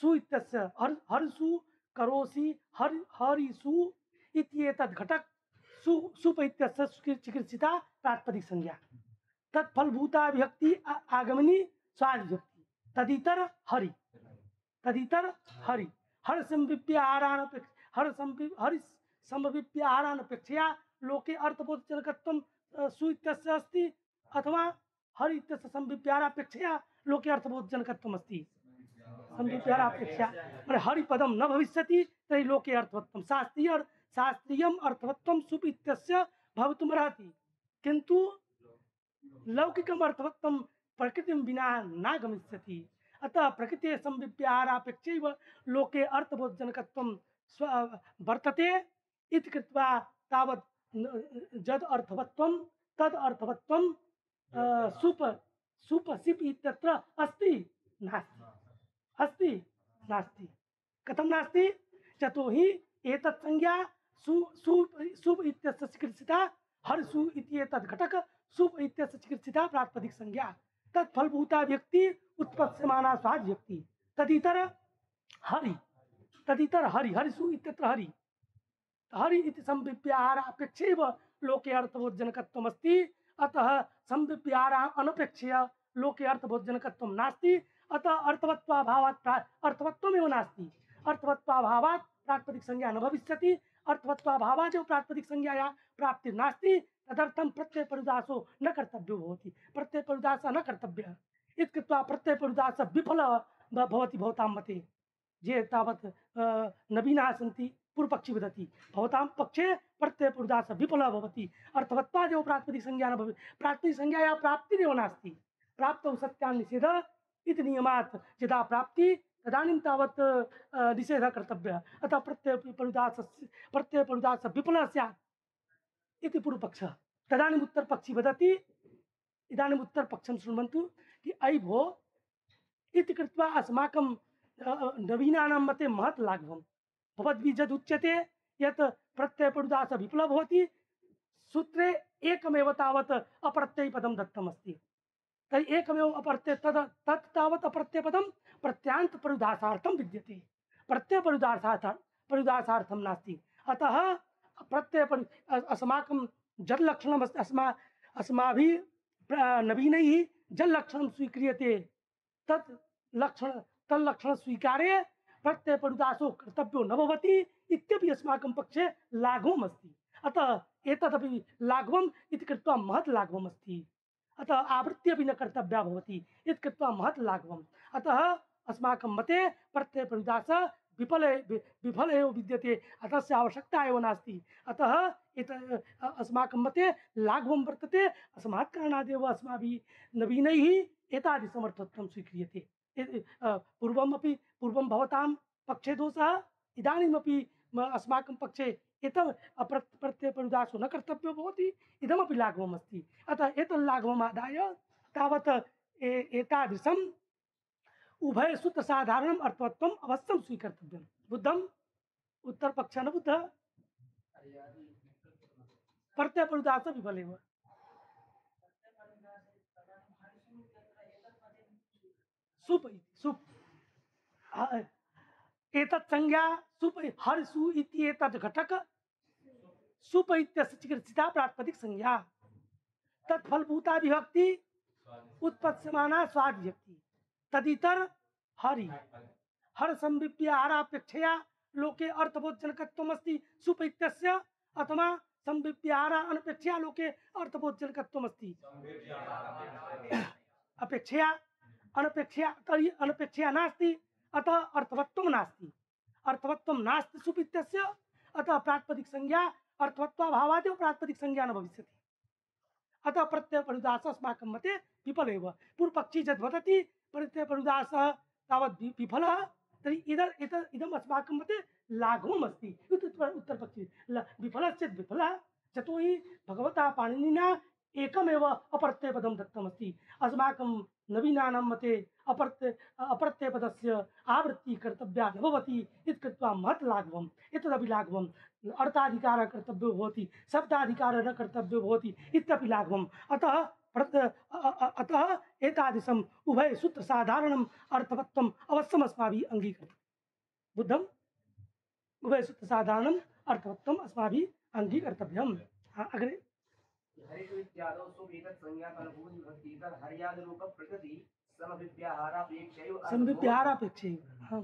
सु इत्यस्य हर् हर्षु करोसि हरि हरिषु इत्येतद् घटक सु सुप इत्यस्य चिकित्सिता प्रातिपदिक संज्ञा तत्फलभूता विभक्ति आ- आगमनी स्वादिभक्ति तदितर हरि तदितर हरि हर संविप्याहारान हर संवि हरि समविप्याहारान अपेक्षया लोके अर्थबोधजनकत्वं अ, सु इत्यस्य अस्ति अथवा हरि इत्यस्य संविप्याहारापेक्षया लोके अर्थबोधजनकत्वम् अस्ति संविप्याहारापेक्षया माने हरिपदं न भविष्यति तर्हि लोके अर्थवत्वं शास्त्रीय शास्त्रीयम् अर्थवत्वं सुप् इत्यस्य भवितुमर्हति किन्तु लौकिकम् अर्थवत्वं प्रकृतिं विना न गमिष्यति अतः प्रकृतेः संविप्याहारापेक्षैव लोके अर्थबोधजनकत्वं स्व वर्तते इति कृत्वा तावत् न- यद् अर्थवत्वं तद् अर्थवत्वं अ, सुप सुप सिप् इत्यत्र अस्ति नास्ति अस्ति नास्ति कथं नास्ति यतोहि एतत् संज्ञा सु सु सुप् इत्यस्य चिकित्सिता हर्षु इत्येतद् घटक सुप् इत्यस्य चिकित्सिता प्रातिपदिक संज्ञा तत्फलभूता व्यक्ति उत्पत्स्यमाना स्वाद व्यक्ति तदितर हरि तदितर हरि हरिषु इत्यत्र हरि हरि इति संविप्याहारापेक्षैव लोके अर्थबोधजनकत्वम् अस्ति अतः संविप्याहारा अनपेक्षया लोके अर्थबोधजनकत्वं नास्ति अतः अर्थवत्वाभावात् प्रा अर्थवत्वमेव नास्ति अर्थवत्वाभावात् प्रातिपदिक संज्ञा न भविष्यति अर्थवत्वाभावात् एव प्रातिपदिक संज्ञायाः प्राप्तिर्नास्ति तदर्थं प्रत्ययपरिदासो न कर्तव्यो भवति प्रत्ययपरिदासः न कर्तव्यः इति कृत्वा प्रत्ययपरिदासः विफलः भ- भवति भवतां मते ये तावत् अ, नवीनाः सन्ति पूर्वपक्षी वदति भवतां पक्षे प्रत्ययपरिदासः विफलः भवति अर्थवत्वादेव प्रातिपदिक संज्ञा न भवति प्रातिपदिक संज्ञायाः प्राप्तिरेव नास्ति प्राप्तौ सत्यान्निषेधः इति नियमात् यदा प्राप्ति तदानीं तावत् अ, निषेधः कर्तव्यः अतः प्रत्ययपरिदासस्य प्रत्ययपरिदासः विफलः स्यात् इति पूर्वपक्षः तदानीम् उत्तरपक्षी वदति इदानीम् उत्तरपक्षं शृण्वन्तु कि अयि भो इति कृत्वा अस्माकं अ, अ, नवीनानां मते महत् लाघवं भवद्भिः यद् उच्यते यत् प्रत्ययपरुदास विफलः भवति सूत्रे एकमेव तावत् अप्रत्ययपदं दत्तमस्ति तर्हि एकमेव अपरते तद तत् तावत् अप्रत्ययपदं प्रत्यान्तपरिदासार्थं विद्यते प्रत्ययपरिदासार्थ परिदासार्थं नास्ति अतः प्रत्ययपरि अस्माकं जल्लक्षणम् अस्ति अस्मा अस्माभिः प्र- नवीनैः जल्लक्षणं स्वीक्रियते तत् लक्षण तल्लक्षण स्वीकारे प्रत्ययपरिदासो कर्तव्यो न भवति इत्यपि अस्माकं पक्षे लाघवम् अस्ति अतः एतदपि लाघवम् इति कृत्वा महत् लाघवम् अस्ति अतः आवृत्ति अपि न कर्तव्या भवति इति कृत्वा महत् लाघवम् अतः अस्माकं मते प्रत्ययपरिदास विफल विफल एव विद्यते अतः तस्य आवश्यकता एव नास्ति अतः इत अस्माकं मते लाघवं वर्तते अस्मात् कारणादेव अस्माभिः नवीनैः एतादृशमर्थत्वं स्वीक्रियते ए- अ, पूर्वमपि पूर्वं भवतां पक्षे दोषः इदानीमपि म- अस्माकं पक्षे एतम् अप्र प्रत्ययपरिदासो न कर्तव्यो भवति इदमपि लाघवम् अस्ति अतः एतल्लाघवम् आदाय तावत् ए- एतादृशम् उभयसूत्रसाधारणम् अर्थवत्वम् अवश्यं स्वीकर्तव्यं बुद्धम् उत्तरपक्षः न बुद्धः प्रत्ययपरिदास विफलेव सुप इति सुप अ- एतत् संज्ञा सुप हर्षु इति एतत् घटक सुप इत्यस्य चिकित्सिता प्रातिपदिक संज्ञा तत्फलभूता विभक्ति उत्पत्स्यमाना स्वाद विभक्ति तदितर हरि हर संविप्याहारापेक्षया लोके अर्थबोधजनकत्वमस्ति सुप इत्यस्य अथवा संविप्याहारा अनपेक्षया लोके अर्थबोधजनकत्वमस्ति अपेक्षया अनपेक्षया तर्हि अनपेक्षया नास्ति अतः अर्थवत्वं नास्ति अर्थवत्वं नास्ति सुप इत्यस्य अतः प्रातिपदिक संज्ञा अर्थवत्वाभावादेव प्रातिपदिक संज्ञा न भविष्यति अतः प्रत्ययपरिदास अस्माकं मते विफल एव पूर्वपक्षी यद् वदति प्रत्ययपरिदासः तावत् वि- विफलः तर्हि इदम् एतत् इदम् अस्माकं मते लाघवम् अस्ति इति उत्तर- उत्तरपक्षी ल- विफलः चेत् विफलः यतोहि भगवता पाणिनिना एकमेव अप्रत्ययपदं दत्तमस्ति अस्माकं नवीनानां मते अप्रत्यय अप्रत्ययपदस्य आवृत्तिः कर्तव्या न भवति इति कृत्वा महत् लाघवम् एतदपि लाघवम् अर्थाधिकारः कर्तव्यो भवति शब्दाधिकारः न कर्तव्यो भवति इत्यपि लाघवम् अतः प्रत्य अ- अ- अतः एतादृशम् उभयसूत्रसाधारणम् अर्थवत्वम् अवश्यम् अस्माभिः अङ्गीकर्तव्यं बुद्धम् उभयसूत्रसाधारणम् अर्थवत्वम् अस्माभिः अङ्गीकर्तव्यम् हा, अग्रे हरिषु इत्यादौ सुवेतत् संज्ञा फलभूत विभक्ति इतर हर्यादिरूप प्रकृति समभिव्याहारापेक्षैव संविप्याहारापेक्षैव हाँ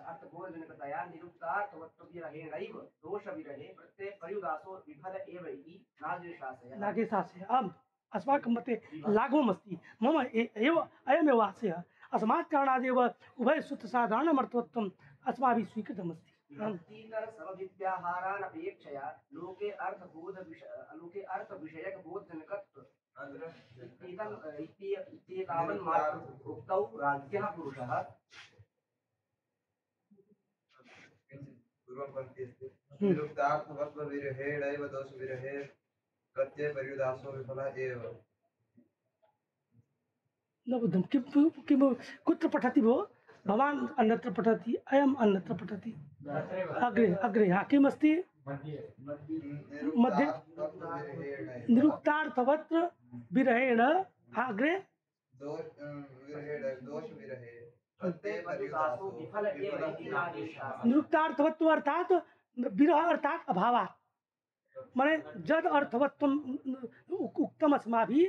अर्थबोधजनकतया निरुक्तार्थवत्वविरहेणैव दोषविरहे प्रत्यय पर्युदासो विफल एव इति नादिशासयः नागेशास्य आम् अस्माकं मते लाघवम् अस्ति मम ए- एव अयमेव आशयः अस्मात् कारणादेव उभयसूत्रसाधारणमर्थवत्वम् अस्माभिः स्वीकृतमस्ति आम् विभक्तितर समभिव्याहारानपेक्षया लोके अर्थबोध लोके अर्थविषयकबोधजनकत्व इत्येतम् इत्येय इत्येतावन्मात्र उक्तौ राज्ञः पुरुषः पूर्वं पङ्क्ति अस्ति निरुक्तार्थवत्वविरहेणैव दोषविरहे प्रत्ययपर्युदासो विफलः एव न बुद्धं किं किं कुत्र पठति भो भवान् अन्यत्र पठति अयम् अन्यत्र पठति अग्रे अग्रे हा किमस्ति मध्ये निरुक्तार्थवत्वविरहेणैव निरुक्तार्थवत्र विरहेण हा अग्रे दोष विरहेणैव दोषविरहे प्रत्ययपर्युदासो विफल एव इति नादिशासयः निरुक्तार्थवत्व अर्थात विरह अर्थात अभावात् माने जद अर्थवत्वम उक- उक्तम अस्माभिः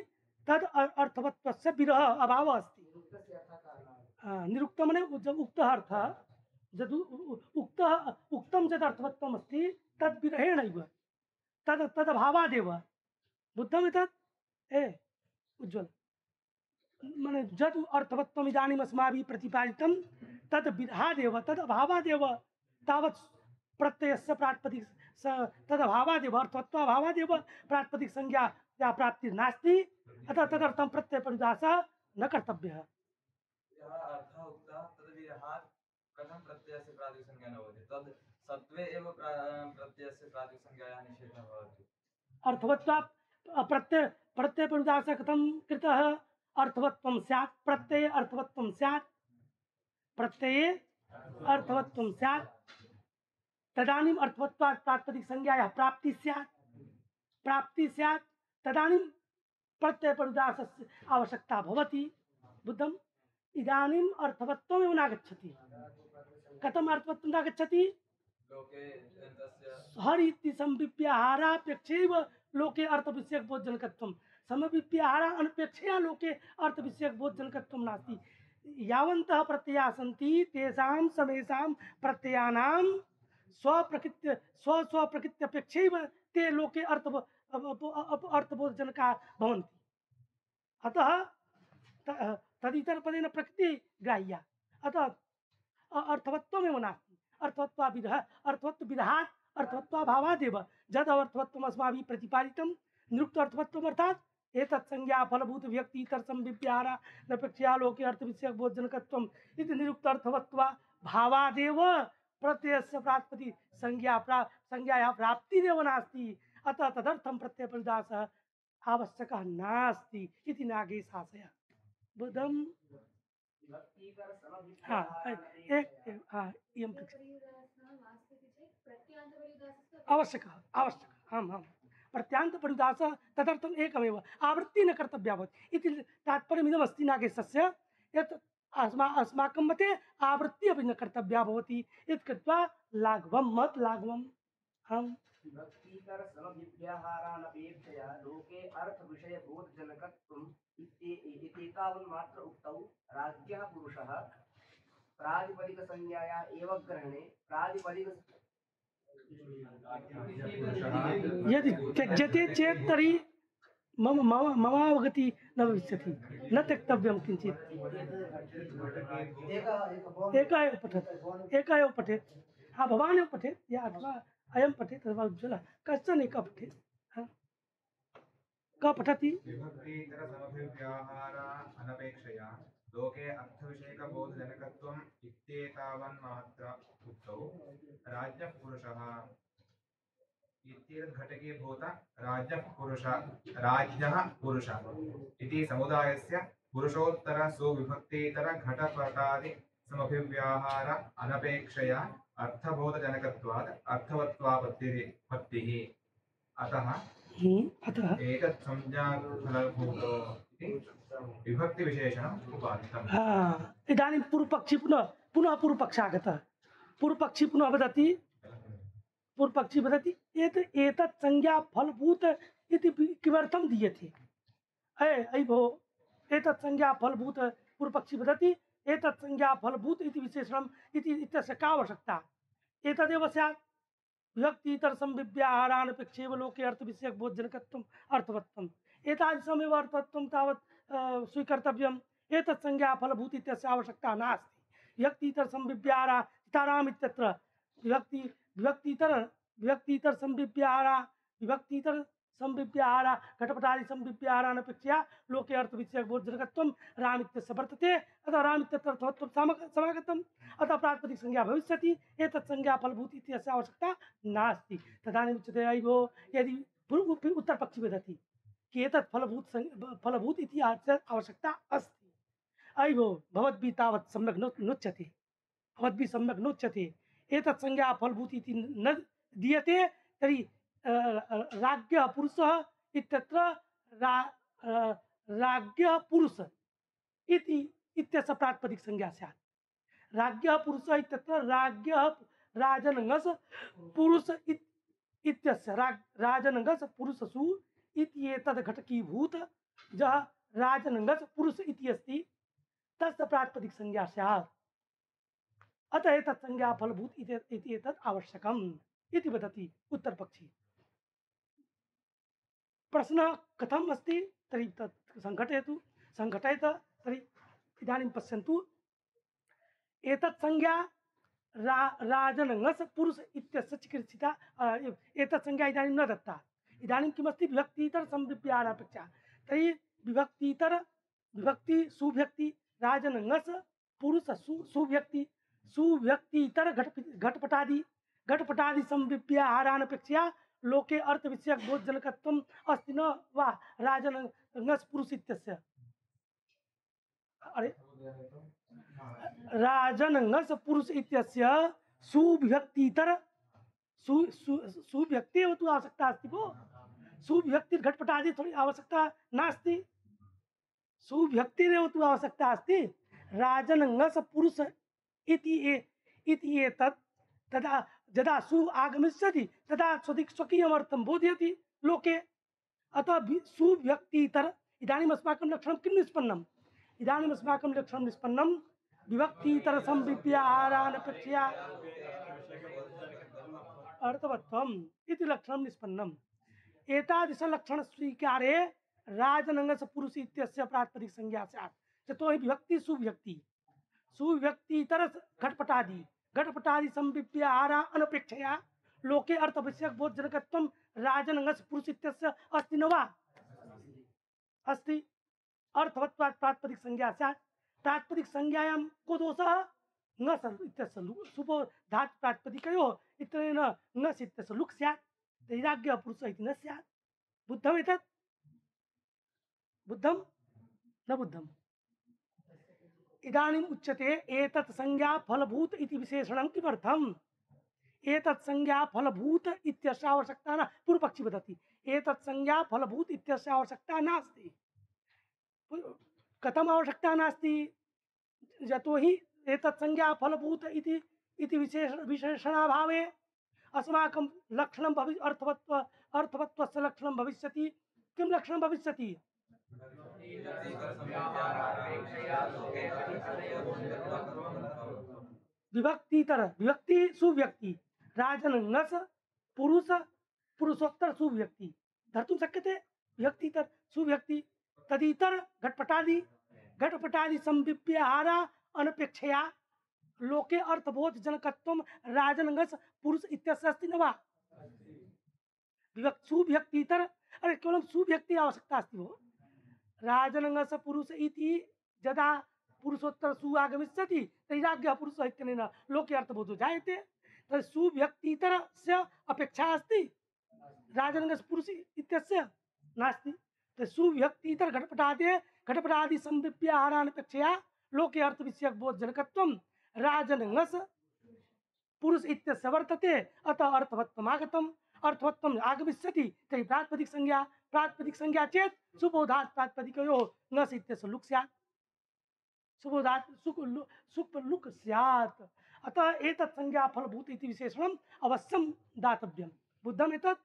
तद अ- अर्थवत्वस्य विरह अभावः अस्ति हाँ, निरुक्त माने जब उक्तः अर्थः यद् उ- उ- उक्तः उक्तं यद् अर्थवत्वम् अस्ति तद् विरहेणैव तद् तदभावादेव बुद्धमितत् ए उज्ज्वल माने यद् अर्थवत्वम् इदानीम् अस्माभिः प्रतिपादितं तद् विरहादेव तद् अभावादेव तावत् प्रत्ययस्य प्रातिपदिक स तदभावादेव अर्थवत्वाभावादेव प्रातिपदिक संज्ञा या प्राप्तिर्नास्ति अतः तदर्थं प्रत्ययपरिदासः न कर्तव्यः यः अर्थः उक्तः तद्विरहात् कथं प्रत्ययस्य प्रातिसंज्ञा न भवति तद् सत्त्वे एव प्रा प्रत्ययस्य प्रातिसंज्ञायाः निषेधः भवति अर्थवत्वा प्रत्यय प्रत्ययपरिदासः कथं कृतः अर्थवत्वं स्यात् प्रत्यये अर्थवत्वं स्यात् प्रत्यये अर्थवत्वं स्यात् तदानीम् अर्थवत्वात् प्रातिपदिकसंज्ञायाः प्राप्ति स्यात् प्राप्ति स्यात् तदानीं प्रत्ययपरिदासस्य आवश्यकता भवति बुद्धम् इदानीम् अर्थवत्वमेव नागच्छति कथम् अर्थवत्वं नागच्छति लोके तस्य हर इति संविप्याहारापेक्षैव लोके अर्थविषयकबोधजनकत्वं समविप्याहार अनपेक्षया लोके अर्थविषयकबोधजनकत्वं नास्ति यावन्तः प्रत्ययाः सन्ति तेषां समेषां प्रत्ययानां स्वप्रकृत्य स्व स्वप्रकृत्यपेक्षैव ते लोके अर्थ अर्थबोधजनकाः भवन्ति अतः त- तदितरपदेन प्रकृति ग्राह्या अतः अ- अर्थवत्वमेव नास्ति अर्थवत्वाविदः अर्थवत्वविदहात् अर्थवत्वाभावादेव जद अर्थवत्वम् अस्माभिः प्रतिपादितं निरुक्त अर्थवत्वम् अर्थात् एतत् संज्ञा फलभूत व्यक्ति इतर संविप्याहार नपेक्षया लोके अर्थविषयक बोधजनकत्वम् इति निरुक्त अर्थवत्वा भावादेव प्रत्ययस्य प्रातिपदिक संज्ञा प्रा संज्ञायाः प्राप्तिरेव नास्ति अतः तदर्थं प्रत्ययपरिदासः आवश्यकः नास्ति इति नागेशाशयः बुद्धम् विभक्तिकर हाँ समभिप्याहारानपेक्षया एक एक- हाँ इयं पृच्छ प्रत्यांतपरिदासः आवश्यकः आवश्यकः आम् आम् प्रत्यान्तपरिदासः तदर्थम् एकमेव आवृत्तिः न कर्तव्या भवति इति तात्पर्यमिदमस्ति नागेशस्य यत् अस्मा अस्माकं मते आवृत्तिः अपि न कर्तव्या भवति इति कृत्वा लाघवं मत् लाघवम् आम् विभक्तिकर समभिप्याहारानपेक्षया लोके अर्थविषयबोधजनकत्वम् इत्ये- इत्येतावन्मात्र उक्तौ राज्ञः पुरुषः प्रातिपदिकसंज्ञाया एव ग्रहणे प्रातिपदिक यदि त्यज्यते चेत् तर्हि मम मम ममावगति न भविष्यति न त्यक्तव्यं किञ्चित् एका एव पठेत् एका एव पठेत् हाँ भवान् एव पठेत् या अथवा अयं पठेत् अथवा उज्ज्वलः कश्चन एकः पठेत् हाँ कः पठति विभक्तीतर समभिव्याहार अनपेक्षया लोके अर्थविषयकबोधजनकत्वम् इत्येतावन्मात्र उक्तौ राज्ञः पुरुषः इत्येतद् घटके भूत राज्ञः पुरुष राज्ञः पुरुषः इति समुदायस्य पुरुषोत्तर सुविभक्तीतर घटपटादि समभिव्याहार अनपेक्षया अर्थबोधजनकत्वात् अर्थवत्वापत्तिः पत्तिः अतः हम्म, अतः एतत् संज्ञाफलभूतो इति विभक्तिविशेषणम् उपादितम् हाँ इदानीं पूर्वपक्षी पुनः पुनः पूर्वपक्षः आगतः पूर्वपक्षी पुनः वदति पूर्वपक्षी वदति एत एतत् संज्ञा फलभूत इति किमर्थं दीयते अय अयि भो एतत् संज्ञा फलभूत पूर्वपक्षी वदति एतत् संज्ञा फलभूत इति विशेषणम् इति इत्यस्य का आवश्यकता एतदेव स्यात् विभक्तीतर संविव्याहारानपेक्षैव लोके अर्थविषयक बोधजनकत्वम् अर्थवत्वम् एतादृशमेव अर्थवत्वं तावत् अ, स्वीकर्तव्यम् एतत् संज्ञा फलभूत इत्यस्य आवश्यकता नास्ति विभक्तीतर संविव्याहार सीताराम इत्यत्र विभक्ति विभक्तीतर विभक्तीतर संविव्याहार विभक्तीतर संविव्याहार घटपटादि संविव्याहारानपेक्षया लोके अर्थविषयक बोधजनकत्वं राम इत्यस्य वर्तते अतः राम इत्यत्र अर्थवत्वं सामग- समागतम् अतः प्रातिपदिक संज्ञा भविष्यति एतत् संज्ञा फलभूत इत्यस्य आवश्यकता नास्ति तदानीम् उच्यते अयि भो यदि पूर्व उत्तरपक्षी वदति कि एतत् फलभूत संज्ञा- फलभूत इति अस्य आवश्यकता अस्ति अयि भो भवद्भिः तावत् सम्यक् नो नोच्यते भवद्भिः सम्यक् नोच्यते एतत् संज्ञा फलभूत इति न दीयते तर्हि अ, अ, राज्ञः पुरुषः इत्यत्र रा अ, राज्ञः पुरुष इति इत्यस्य प्रातिपदिक संज्ञा स्यात् राज्ञः पुरुषः इत्यत्र राज्ञः राजनङस् पुरुष इत्- इत्यस्य राज राजनङस् पुरुषसु इति एतद् घटकीभूत जः राजनङस् पुरुष इति अस्ति तस्य प्रातिपदिक संज्ञा स्यात् अतः एतत् संज्ञा फलभूत इति इति एतत् आवश्यकम् इति वदति उत्तरपक्षी प्रश्नः कथम् अस्ति तर्हि तत् सङ्घटयतु सङ्घटयत तर्हि इदानीं पश्यन्तु एतत् संज्ञा रा राजनङस् पुरुष इत्यस्य चिकित्सिता अ, एतत् संज्ञा इदानीं न दत्ता इदानीं किमस्ति विभक्तीतर संविव्याहारापेक्षा तर्हि विभक्तीतर विभक्ति सुव्यक्ति राजनङस् पुरुष सु सुव्यक्ति सुव्यक्तीतर घट घटपटादि घटपटादि संविव्याहारानपेक्षया लोके अर्थ विषयक बोधजनकत्वम् अस्ति न वा राजनंगस पुरुष इत्यस्य। अरे राजनंगस पुरुष इत्यस्य सुव्यक्तितर सु सु सुव्यक्ति एव तु आवश्यकता अस्ति भो। सुव्यक्ति घटपटादि थोड़ी आवश्यकता नास्ति। सुव्यक्तिरेव तु आवश्यकता अस्ति। राजनंगस पुरुष इति ए इति एतत् तदा यदा सु आगमिष्यति तदा स्वधिक स्वकीयमर्थं बोधयति लोके। अतः वि- सुव्यक्तितर इदानीम् अस्माकं लक्षणं किं निष्पन्नम्? इदानीम् अस्माकं लक्षणं निष्पन्नं विभक्तितर संविप्याहारानपेक्षया अर्थवत्वम् इति लक्षणं निष्पन्नम्। एतादृश लक्षण स्वीकारे राजनंगस पुरुष इत्यस्य प्रातिपदिक संज्ञा स्यात्। यतोहि विभक्ति सुव्यक्ति सुव्यक्तितर घटपटादि घटपटादि संविप्याहारा अनपेक्षया लोके अर्थ विषयक बोधजनकत्वं राजनंगस पुरुष इत्यस्य अस्ति न वा? अस्ति। अर्थवत्वात् प्रातिपदिक संज्ञा स्यात्। प्रातिपदिक संज्ञायां को दोषः? ङस् इत्यस्य लु- सुबोधात् प्रातिपदिकयोः इत्यनेन ङस् इत्यस्य लुक् स्यात्। तैराग्यः पुरुषः इति न स्यात्। बुद्धम् एतत्? बुद्धं न बुद्धम्। इदानीम् उच्यते एतत् संज्ञा फलभूत इति विशेषणं किमर्थम्? एतत् संज्ञा फलभूत इत्यस्य आवश्यकता न। पूर्वपक्षी वदति एतत् संज्ञा फलभूत इत्यस्य आवश्यकता नास्ति। कथम् आवश्यकता नास्ति? यतोहि एतत् संज्ञा फलभूत इति इति विशेष विशेषणाभावे अस्माकं लक्षणं भवि अर्थवत्व अर्थवत्वस्य लक्षणं भविष्यति। किं लक्षणं भविष्यति? विभक्तितर विभक्ति सुव्यक्ति राजनंगस पुरुष पुरुषोत्तर सुव्यक्ति धर्तुं शक्यते। विभक्तितर सुव्यक्ति तदितर घटपटादि घटपटादि संविप्याहारा अनपेक्षया लोके अर्थबोध जनकत्वं राजनंगस पुरुष इत्यस्य अस्ति न वा? विभक्ति सुव्यक्तितर अरे केवलं सुव्यक्ति आवश्यकता अस्ति भो। राजनंगस पुरुष इति यदा पुरुषोत्तर सु आगमिष्यति तैराग्यः पुरुषः इत्यनेन लोके अर्थबोधो जायते। तर्हि सुव्यक्तितरस्य अपेक्षा अस्ति राजनंगस पुरुष इत्यस्य नास्ति। तर्हि सुव्यक्तितर घटपटादे घटपटादि संविप्याहारानपेक्षया लोके अर्थ विषयक बोधजनकत्वं राजनंगस पुरुष इत्यस्य वर्तते। अतः अर्थवत्वम् आगतम्। अर्थवत्वम् आगमिष्यति तर्हि प्रातिपदिक संज्ञा प्रातिपदिक संज्ञा चेत् सुबोधात् प्रातिपदिकयोः ङस् इत्यस्य लुक् स्यात्। सुबोधात् सुक् लु सुक् लुक् स्यात्। अतः एतत् संज्ञा फलभूत इति विशेषणम् अवश्यं दातव्यं। बुद्धम् एतत्?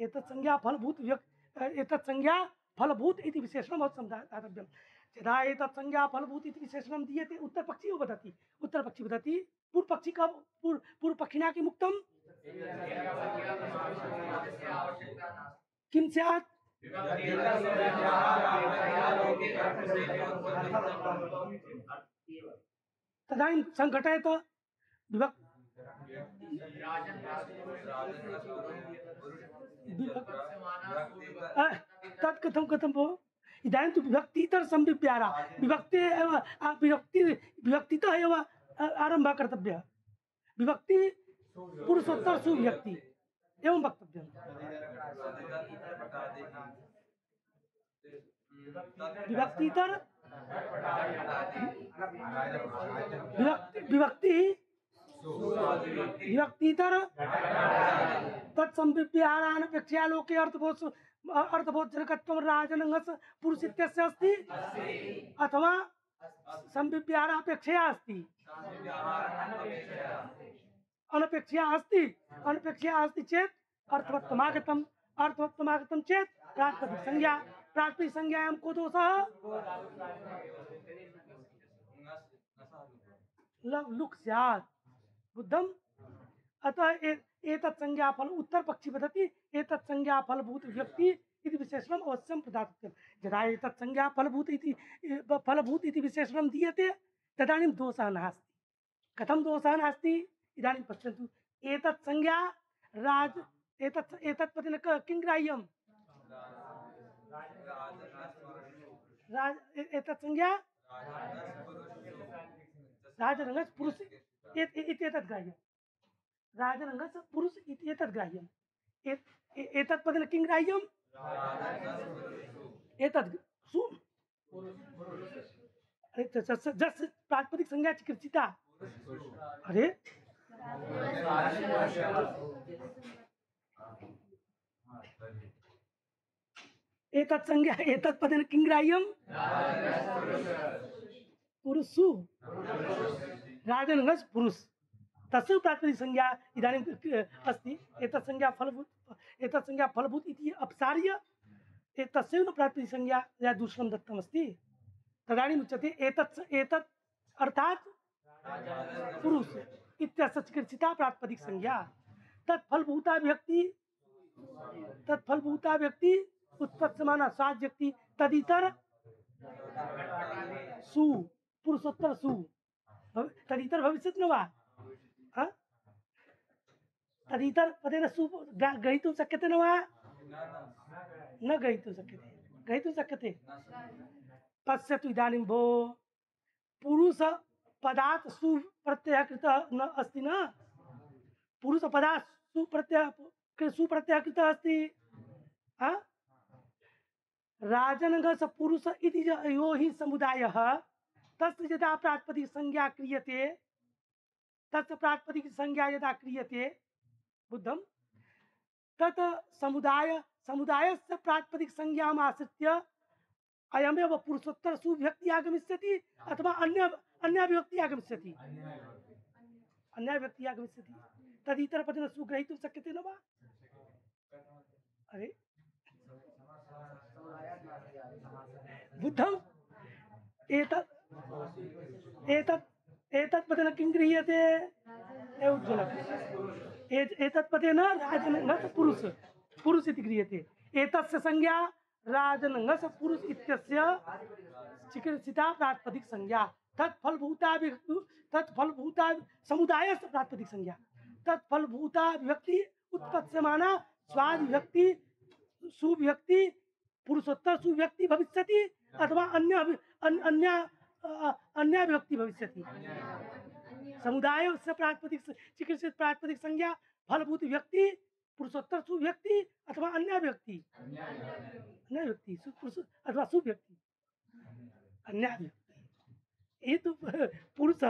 एतत् संज्ञा फलभूत व्यक् एतत् संज्ञा फलभूत इति विशेषणम् अवश्यं दा- दातव्यं। यदा एतत् संज्ञा फलभूत इति विशेषणं दीयते उत्तरपक्षी वदति उत्तरपक्षी वदति पूर्वपक्षी का पूर्व पूर्वपक्षिणा किम् उक्तम्? किं स्यात्? तदानीं संघटयत विभक् तत् कथं कथं भो? इदानीं तु विभक्तितर संविप्याहारा विभक्ति एव आ, विभक्ति विभक्तितः एव आ- आरम्भः कर्तव्यः। विभक्ति पुरुषोत्तर सुव्यक्ति एवं वक्तव्यम्। विभक्तितर विभक्ति विभक्ति विभक्तितर तत्संविप्याहारानपेक्षया लोके अर्थबोध अर्थबोधजनकत्वं राजनंगस पुरुष इत्यस्य अस्ति अथवा संविप्याहारापेक्षया अस्ति? अनपेक्षया अस्ति। अनपेक्षया अस्ति चेत् अर्थवत्वमागतम्। अर्थवत्वमागतं चेत् प्रातिपदिक संज्ञा प्रातिपदिक संज्ञायां को दोषः? ल- लुक् स्यात्। बुद्धम्? अतः ए- एतत् संज्ञा फल उत्तर पक्षी वदति एतत् संज्ञा फलभूत व्यक्ति इति विशेषणम् अवश्यं प्रदातव्यं। यदा एतत् संज्ञा फलभूत इति फलभूत इति विशेषणं दीयते तदानीं दोषः नास्ति। कथं दोषः नास्ति? इदानीं पश्यन्तु एतत् संज्ञा राज एतत् एतत् पदेन क- किं ग्राह्यं? राज ए- एतत् संज्ञा राजनंगस पुरुष इत्येतत् ग्राह्यं। राजनंगस पुरुष इत्येतत् ग्राह्यम्। एत् एतत्पदेन किं ग्राह्यम् एतद् सु अरे जस प्रातिपदिक संज्ञा चिकित्सिता अरे एतत् संज्ञा एतत् पदेन किं ग्राह्यं पुरुषु राजनगस पुरुष तस्य प्रातिपदिक संज्ञा इदानीं अस्ति एतत् संज्ञा फलभूत एतत् संज्ञा फलभूत इति अपसार्य एतस्यैव प्रातिपदिक संज्ञा या दूषणं दत्तमस्ति तदानीम् उच्यते एतत् एतत् अर्थात् पुरुष इत्यस्य चिकित्सिता प्रातिपदिक संज्ञा तत्फलभूता व्यक्ति तत्फलभूता व्यक्ति उत्पत्समाना स्वाद व्यक्ति तदितर सु पुरुषोत्तर सु तदितर भविष्यति न वा हाँ? तदितर पदेन सु ग्रहीतुं शक्यते न वा न ग्रहीतुं शक्यते ग्रहीतुं शक्यते पश्यतु इदानीं भो पुरुष पदात् सु प्रत्ययः कृतः न अस्ति न पुरुष पदात् सु प्रत्ययः सु प्रत्ययः कृतः अस्ति हाँ? राजनगस पुरुष इति यो हि समुदायः तस्य यदा प्रातिपदिक संज्ञा क्रियते तस्य प्रातिपदिक संज्ञा यदा क्रियते बुद्धं तत् समुदाय समुदायस्य प्रातिपदिक संज्ञाम् आश्रित्य अयमेव पुरुषोत्तर सुव्यक्ति आगमिष्यति अथवा अन्य अन्य व्यक्ति आगमिष्यति अन्य व्यक्ति आगमिष्यति तदितर पदेन सुग्रहीतुं शक्यते न वा अरे बुद्धम् एतत् एतत् एतत् पदेन किं गृह्यते उज्ज्वलम् एतत् पदेन राजनगस पुरुष पुरुष इति गृह्यते एतस्य संज्ञा राजनगस पुरुष इत्यस्य चिकित्सिता प्रातिपदिक संज्ञा तत्फलभूता तत्फलभूता समुदायस्य प्रातिपदिक संज्ञा तत्फलभूता व्यक्ति उत्पत्स्यमाना स्वाद व्यक्ति सुव्यक्ति पुरुषोत्तर सुव्यक्ति भविष्यति अथवा अन्य अन्य अन्य व्यक्ति भविष्यति समुदाय से प्रातिपदिक चिकित्सित प्रातिपदिक संज्ञा फलभूत व्यक्ति पुरुषोत्तर सुव्यक्ति अथवा अन्य व्यक्ति अन्य व्यक्ति पुरुष अथवा सुव्यक्ति अन्य व्यक्ति ये तो पुरुष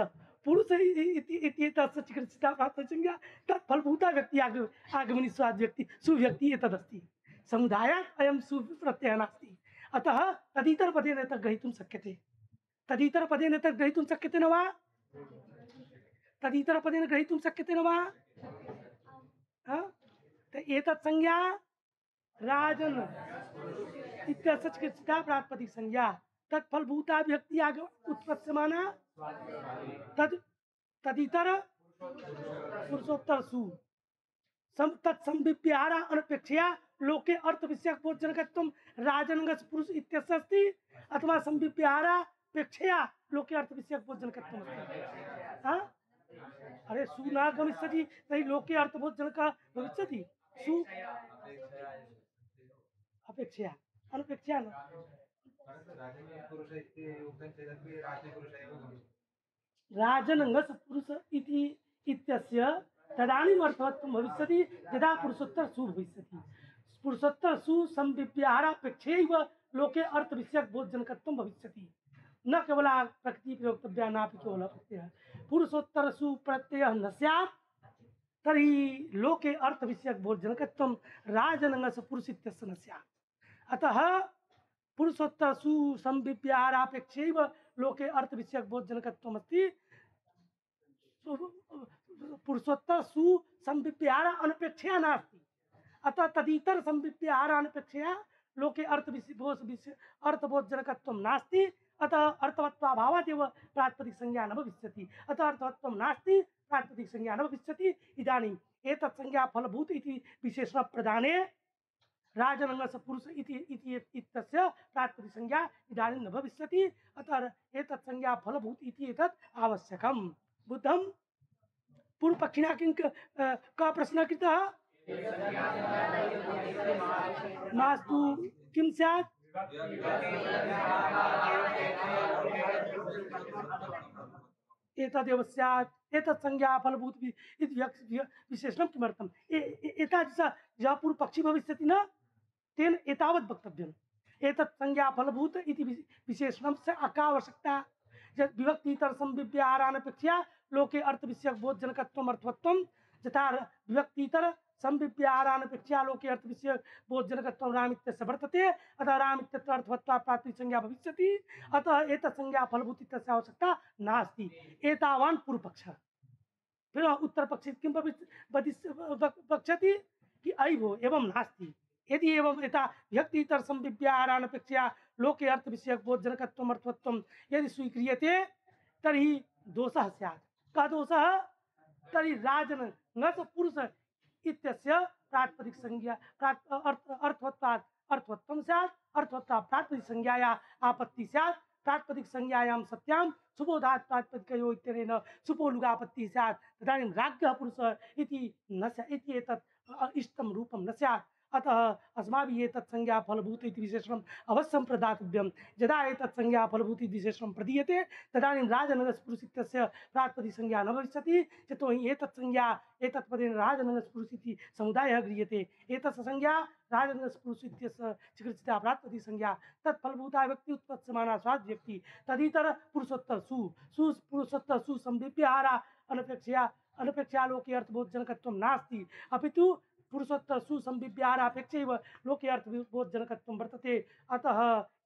पुरुष इति तस्य चिकित्सिता प्रातिपदिक संज्ञा तत्फलभूता व्यक्ति आगमनी स्वाद व्यक्ति सुव्यक्ति एतदस्ति समुदायात् अयं सु प्रत्ययः नास्ति अतः तदितर पदेन एतत् ग्रहीतुं शक्यते तदितर पदेन एतत् ग्रहीतुं शक्यते न वा तदितर पदेन ग्रहीतुं शक्यते न वा एतत् संज्ञा राजन इत्यस्य चिकित्सिता प्रातिपदिक संज्ञा तत्फलभूता व्यक्ति आग उत्पत्स्यमाना तद तदितर पुरुषोत्तर सु सम तत्संविप्याहार अनपेक्षया लोके अर्थ विषयक बोधजनकत्वं राजनगस पुरुष इत्यस्य अस्ति अथवा संविप्याहारापेक्षया लोके अर्थ विषयक बोधजनकत्वम् अस्ति हाँ अरे सु न गमिष्यति तर्हि लोके अर्थबोधजनकः भविष्यति सु अपेक्षया अनपेक्षया न राजनगस पुरुष इति इत्यस्य तदानीम् अर्थवत्वं भविष्यति यदा पुरुषोत्तर सु भविष्यति पुरुषोत्तर सु संविप्याहारापेक्षैव लोके अर्थ विषयक बोधजनकत्वं भविष्यति न केवल प्रकृति प्रयोक्तव्या नापि केवल प्रत्ययः पुरुषोत्तर सु प्रत्ययः न स्यात् तर्हि लोके अर्थ विषयक बोधजनकत्वं राजनगस पुरुष इत्यस्य न स्यात् अतः पुरुषोत्तर सु संविप्याहारापेक्षैव लोके अर्थ विषयक बोधजनकत्वम् अस्ति पुरुषोत्तर सु संविप्याहार अनपेक्षया नास्ति अतः तदितर संविप्याहार अनपेक्षया लोके अर्थ अर्थबोधजनकत्वं नास्ति अतः अर्थवत्वाभावादेव प्रातिपदिक संज्ञा न भविष्यति अतः अर्थवत्वं नास्ति प्रातिपदिक संज्ञा न भविष्यति इदानीम् एतत् संज्ञा फलभूत इति विशेषण प्रदाने राजनगस पुरुष इति इति इत्यस्य प्रातिपदिक संज्ञा इदानीं न भविष्यति अतः एतत् संज्ञा फलभूत इति एतत् आवश्यकम् बुद्धं पूर्वपक्षिणा किं कः प्रश्नः कृतः मास्तु किं स्यात् एतदेव स्यात् एतत् संज्ञा फलभूत इति विशेषणं किमर्थम् एतत् एतादृश यः पूर्वपक्षी भविष्यति न तेन एतावत् वक्तव्यम् एतत् संज्ञा फलभूत इति विशेषणस्य अकावश्यकता यत् विभक्तितर संविव्याहारानपेक्षया लोके अर्थविषयक बोधजनकत्वम् अर्थवत्वं यथा विभक्तितर संविव्याहारानपेक्षया लोके अर्थविषयक बोधजनकत्वं रामित्यस्य वर्तते अतः रामित्यत्र अर्थवत्वा प्रातिनिधिक संज्ञा भविष्यति अतः एतत् संज्ञा फलभूत इत्यस्य आवश्यकता नास्ति एतावान् पूर्वपक्षः। फिर उत्तर पक्षी किं वक्ष्यति कि अयि भो एवं नास्ति यदि एवं यथा व्यक्तितर संविव्याहारानपेक्षया लोके अर्थ विषयक बोधजनकत्वम् अर्थवत्वं यदि स्वीक्रियते तर्हि दोषः स्यात्। कः दोषः? तर्हि राजन न च पुरुष इत्यस्य प्रातिपदिक संज्ञा अर्थवत्वात् अर्थवत्वं स्यात् अर्थवत्वात् प्रातिपदिक संज्ञाया आपत्ति स्यात् प्रातिपदिक संज्ञायां सत्यां सुबोधात् प्रातिपदिकयो इत्यनेन सुपोलुगापत्तिः स्यात् तदानीं राज्ञः पुरुषः इति न स्यात् इति एतत् इष्टं रूपं न स्यात्। अतः अस्माभिः एतत् संज्ञा फलभूत इति विशेषणम् अवश्यं प्रदातव्यं। यदा एतत् संज्ञा फलभूत इति विशेषणं प्रदीयते तदानीं राजनगस्पुरुष इत्यस्य प्रातिपदिक संज्ञा न भविष्यति यतोहि एतत् संज्ञा एतत् पदेन राजनगस्पुरुष इति समुदायः गृह्यते एतस्य संज्ञा राजनगस्पुरुष इत्यस्य चिकित्सिता प्रातिपदिक संज्ञा तत् फलभूता व्यक्ति उत्पत्स्यमाना स्वाद व्यक्ति तदितर पुरुषोत्तर सु सु पुरुषोत्तर सु संविव्याहारा अनपेक्षया अनपेक्षया लोके अर्थबोधजनकत्वं नास्ति अपितु पुरुषोत्तर सुसंविव्याहारापेक्षैव लोके अर्थबोधजनकत्वं वर्तते। अतः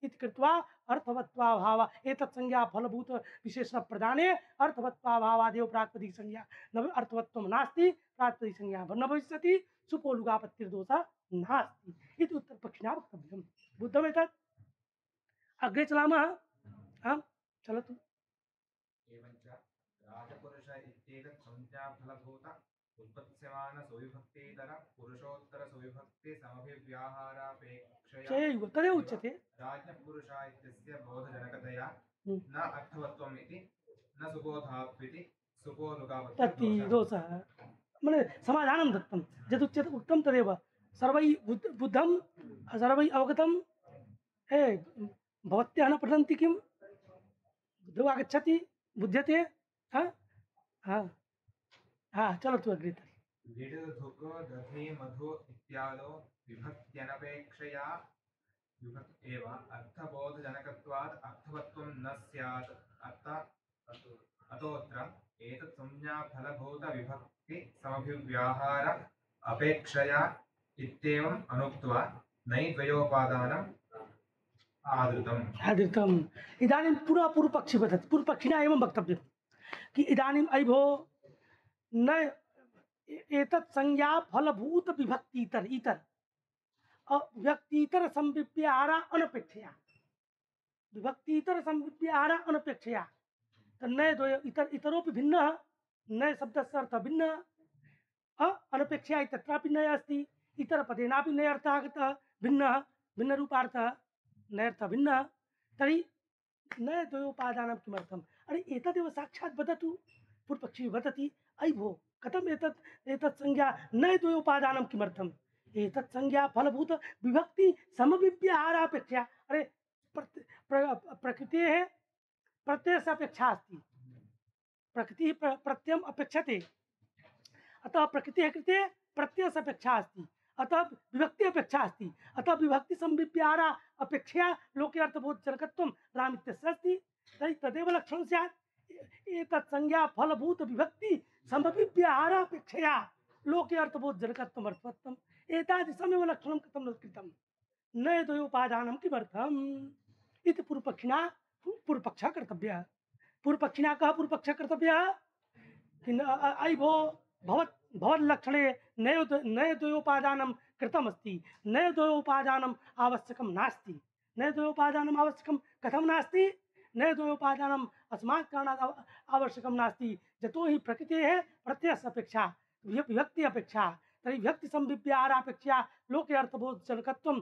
इति कृत्वा अर्थवत्वाभाव एतत् संज्ञा फलभूत विशेषण प्रदाने अर्थवत्वाभावादेव प्रातिपदिक संज्ञा न अर्थवत्वं नास्ति प्रातिपदिक संज्ञा न भविष्यति सुपोलुगापत्तिर्दोषः नास्ति इति उत्तरपक्षिणा वक्तव्यं। बुद्धमेतत् अग्रे चलामः। आं चलतु। एवञ्च राजपुरुष इत्येतत् संज्ञाफलभूत उत्पत्स्यमान सुविभक्तितर पुरुषोत्तर सुविभक्ति समभिव्याहारापेक्षया चैव तदेव उच्यते राज्ञपुरुषा इत्यस्य बोधजनकतया न अर्थवत्वम् इति न सुबोधात्विति सुपोलुगापत्तिः तत्ति दोषः मने समाधानं दत्तं यदुच्यते उक्तं तदेव सर्वैः बुद्ध बुद्धं सर्वैः अवगतं हे भवत्यः न पठन्ति किं बुद्धौ आगच्छति बुध्यते हाँ हाँ हाँ चलतु अग्रे तर्हि। लिड् धुक् दधि मधु इत्यादौ विभक्त्यनपेक्षया विभक् एव अर्थबोधजनकत्वात् अर्थवत्वं न स्यात् अत अतोऽत्र एतत् संज्ञाफलभूत विभक्ति समभिव्याहार अपेक्षया इत्येवम् अनुक्त्वा नै द्वयोपादानम् आदृतम् आदृतम्। इदानीं पुनः पूर्वपक्षी वदति पूर्वपक्षिणा एवं वक्तव्यं कि इदानीम् अयि भो न एतत् संज्ञा फलभूत विभक्तितर इतर व्यक्तितर संविव्याहारा अनपेक्षया विभक्तितर संविव्याहारा अनपेक्षया तन्नय द्वय इतर इतरोपि भिन्नः नय शब्दस्य अर्थः भिन्नः अनपेक्षया तत्रापि नय अस्ति इतर पदेनापि नय अर्थः आगतः भिन्नः भिन्नरूपार्थः नयर्थः भिन्नः तर्हि नय द्वयोपादानं किमर्थम्? अरे एतदेव साक्षात् वदतु पूर्वपक्षी वदति अयि भो कथम् एतत् एतत् संज्ञा नय द्वयोपादानं किमर्थम्? एतत् संज्ञा फलभूत विभक्ति समविव्याहारापेक्षया अरे प्रकृतेः प्रत्ययस्य अपेक्षा अस्ति प्रकृतिः प्रत्ययम् अपेक्षते अतः प्रकृतेः कृते प्रत्ययस्य अपेक्षा अस्ति अतः विभक्ति अपेक्षा अस्ति अतः विभक्ति संविव्याहारा अपेक्षया लोके अर्थबोधजनकत्वं रामित्यस्य अस्ति तर्हि तदेव लक्षणं स्यात् एतत् संज्ञा फलभूत विभक्ति समविव्याहारापेक्षया लोके अर्थबोधजनकत्वम् अर्थवत्वम् एतादृशमेव लक्षणं कथं न कृतं न द्वयोपादानं किमर्थम् इति पूर्वपक्षिणा पूर्वपक्षः कर्तव्यः। पूर्वपक्षिणा कः पूर्वपक्षः कर्तव्यः कि अयि भो भवत् भवल्लक्षणे नय नय द्वयोपादानं कृतमस्ति नय द्वयोपादानम् आवश्यकं नास्ति नय द्वयोपादानम् आवश्यकं कथं नास्ति नय द्वयोपादानम् अस्मात् कारणात् आवश्यकं नास्ति यतोहि प्रकृतेः प्रत्ययस्य अपेक्षा विभक्ति अपेक्षा तर्हि विभक्ति संविव्याहारापेक्षया लोके अर्थबोधजनकत्वं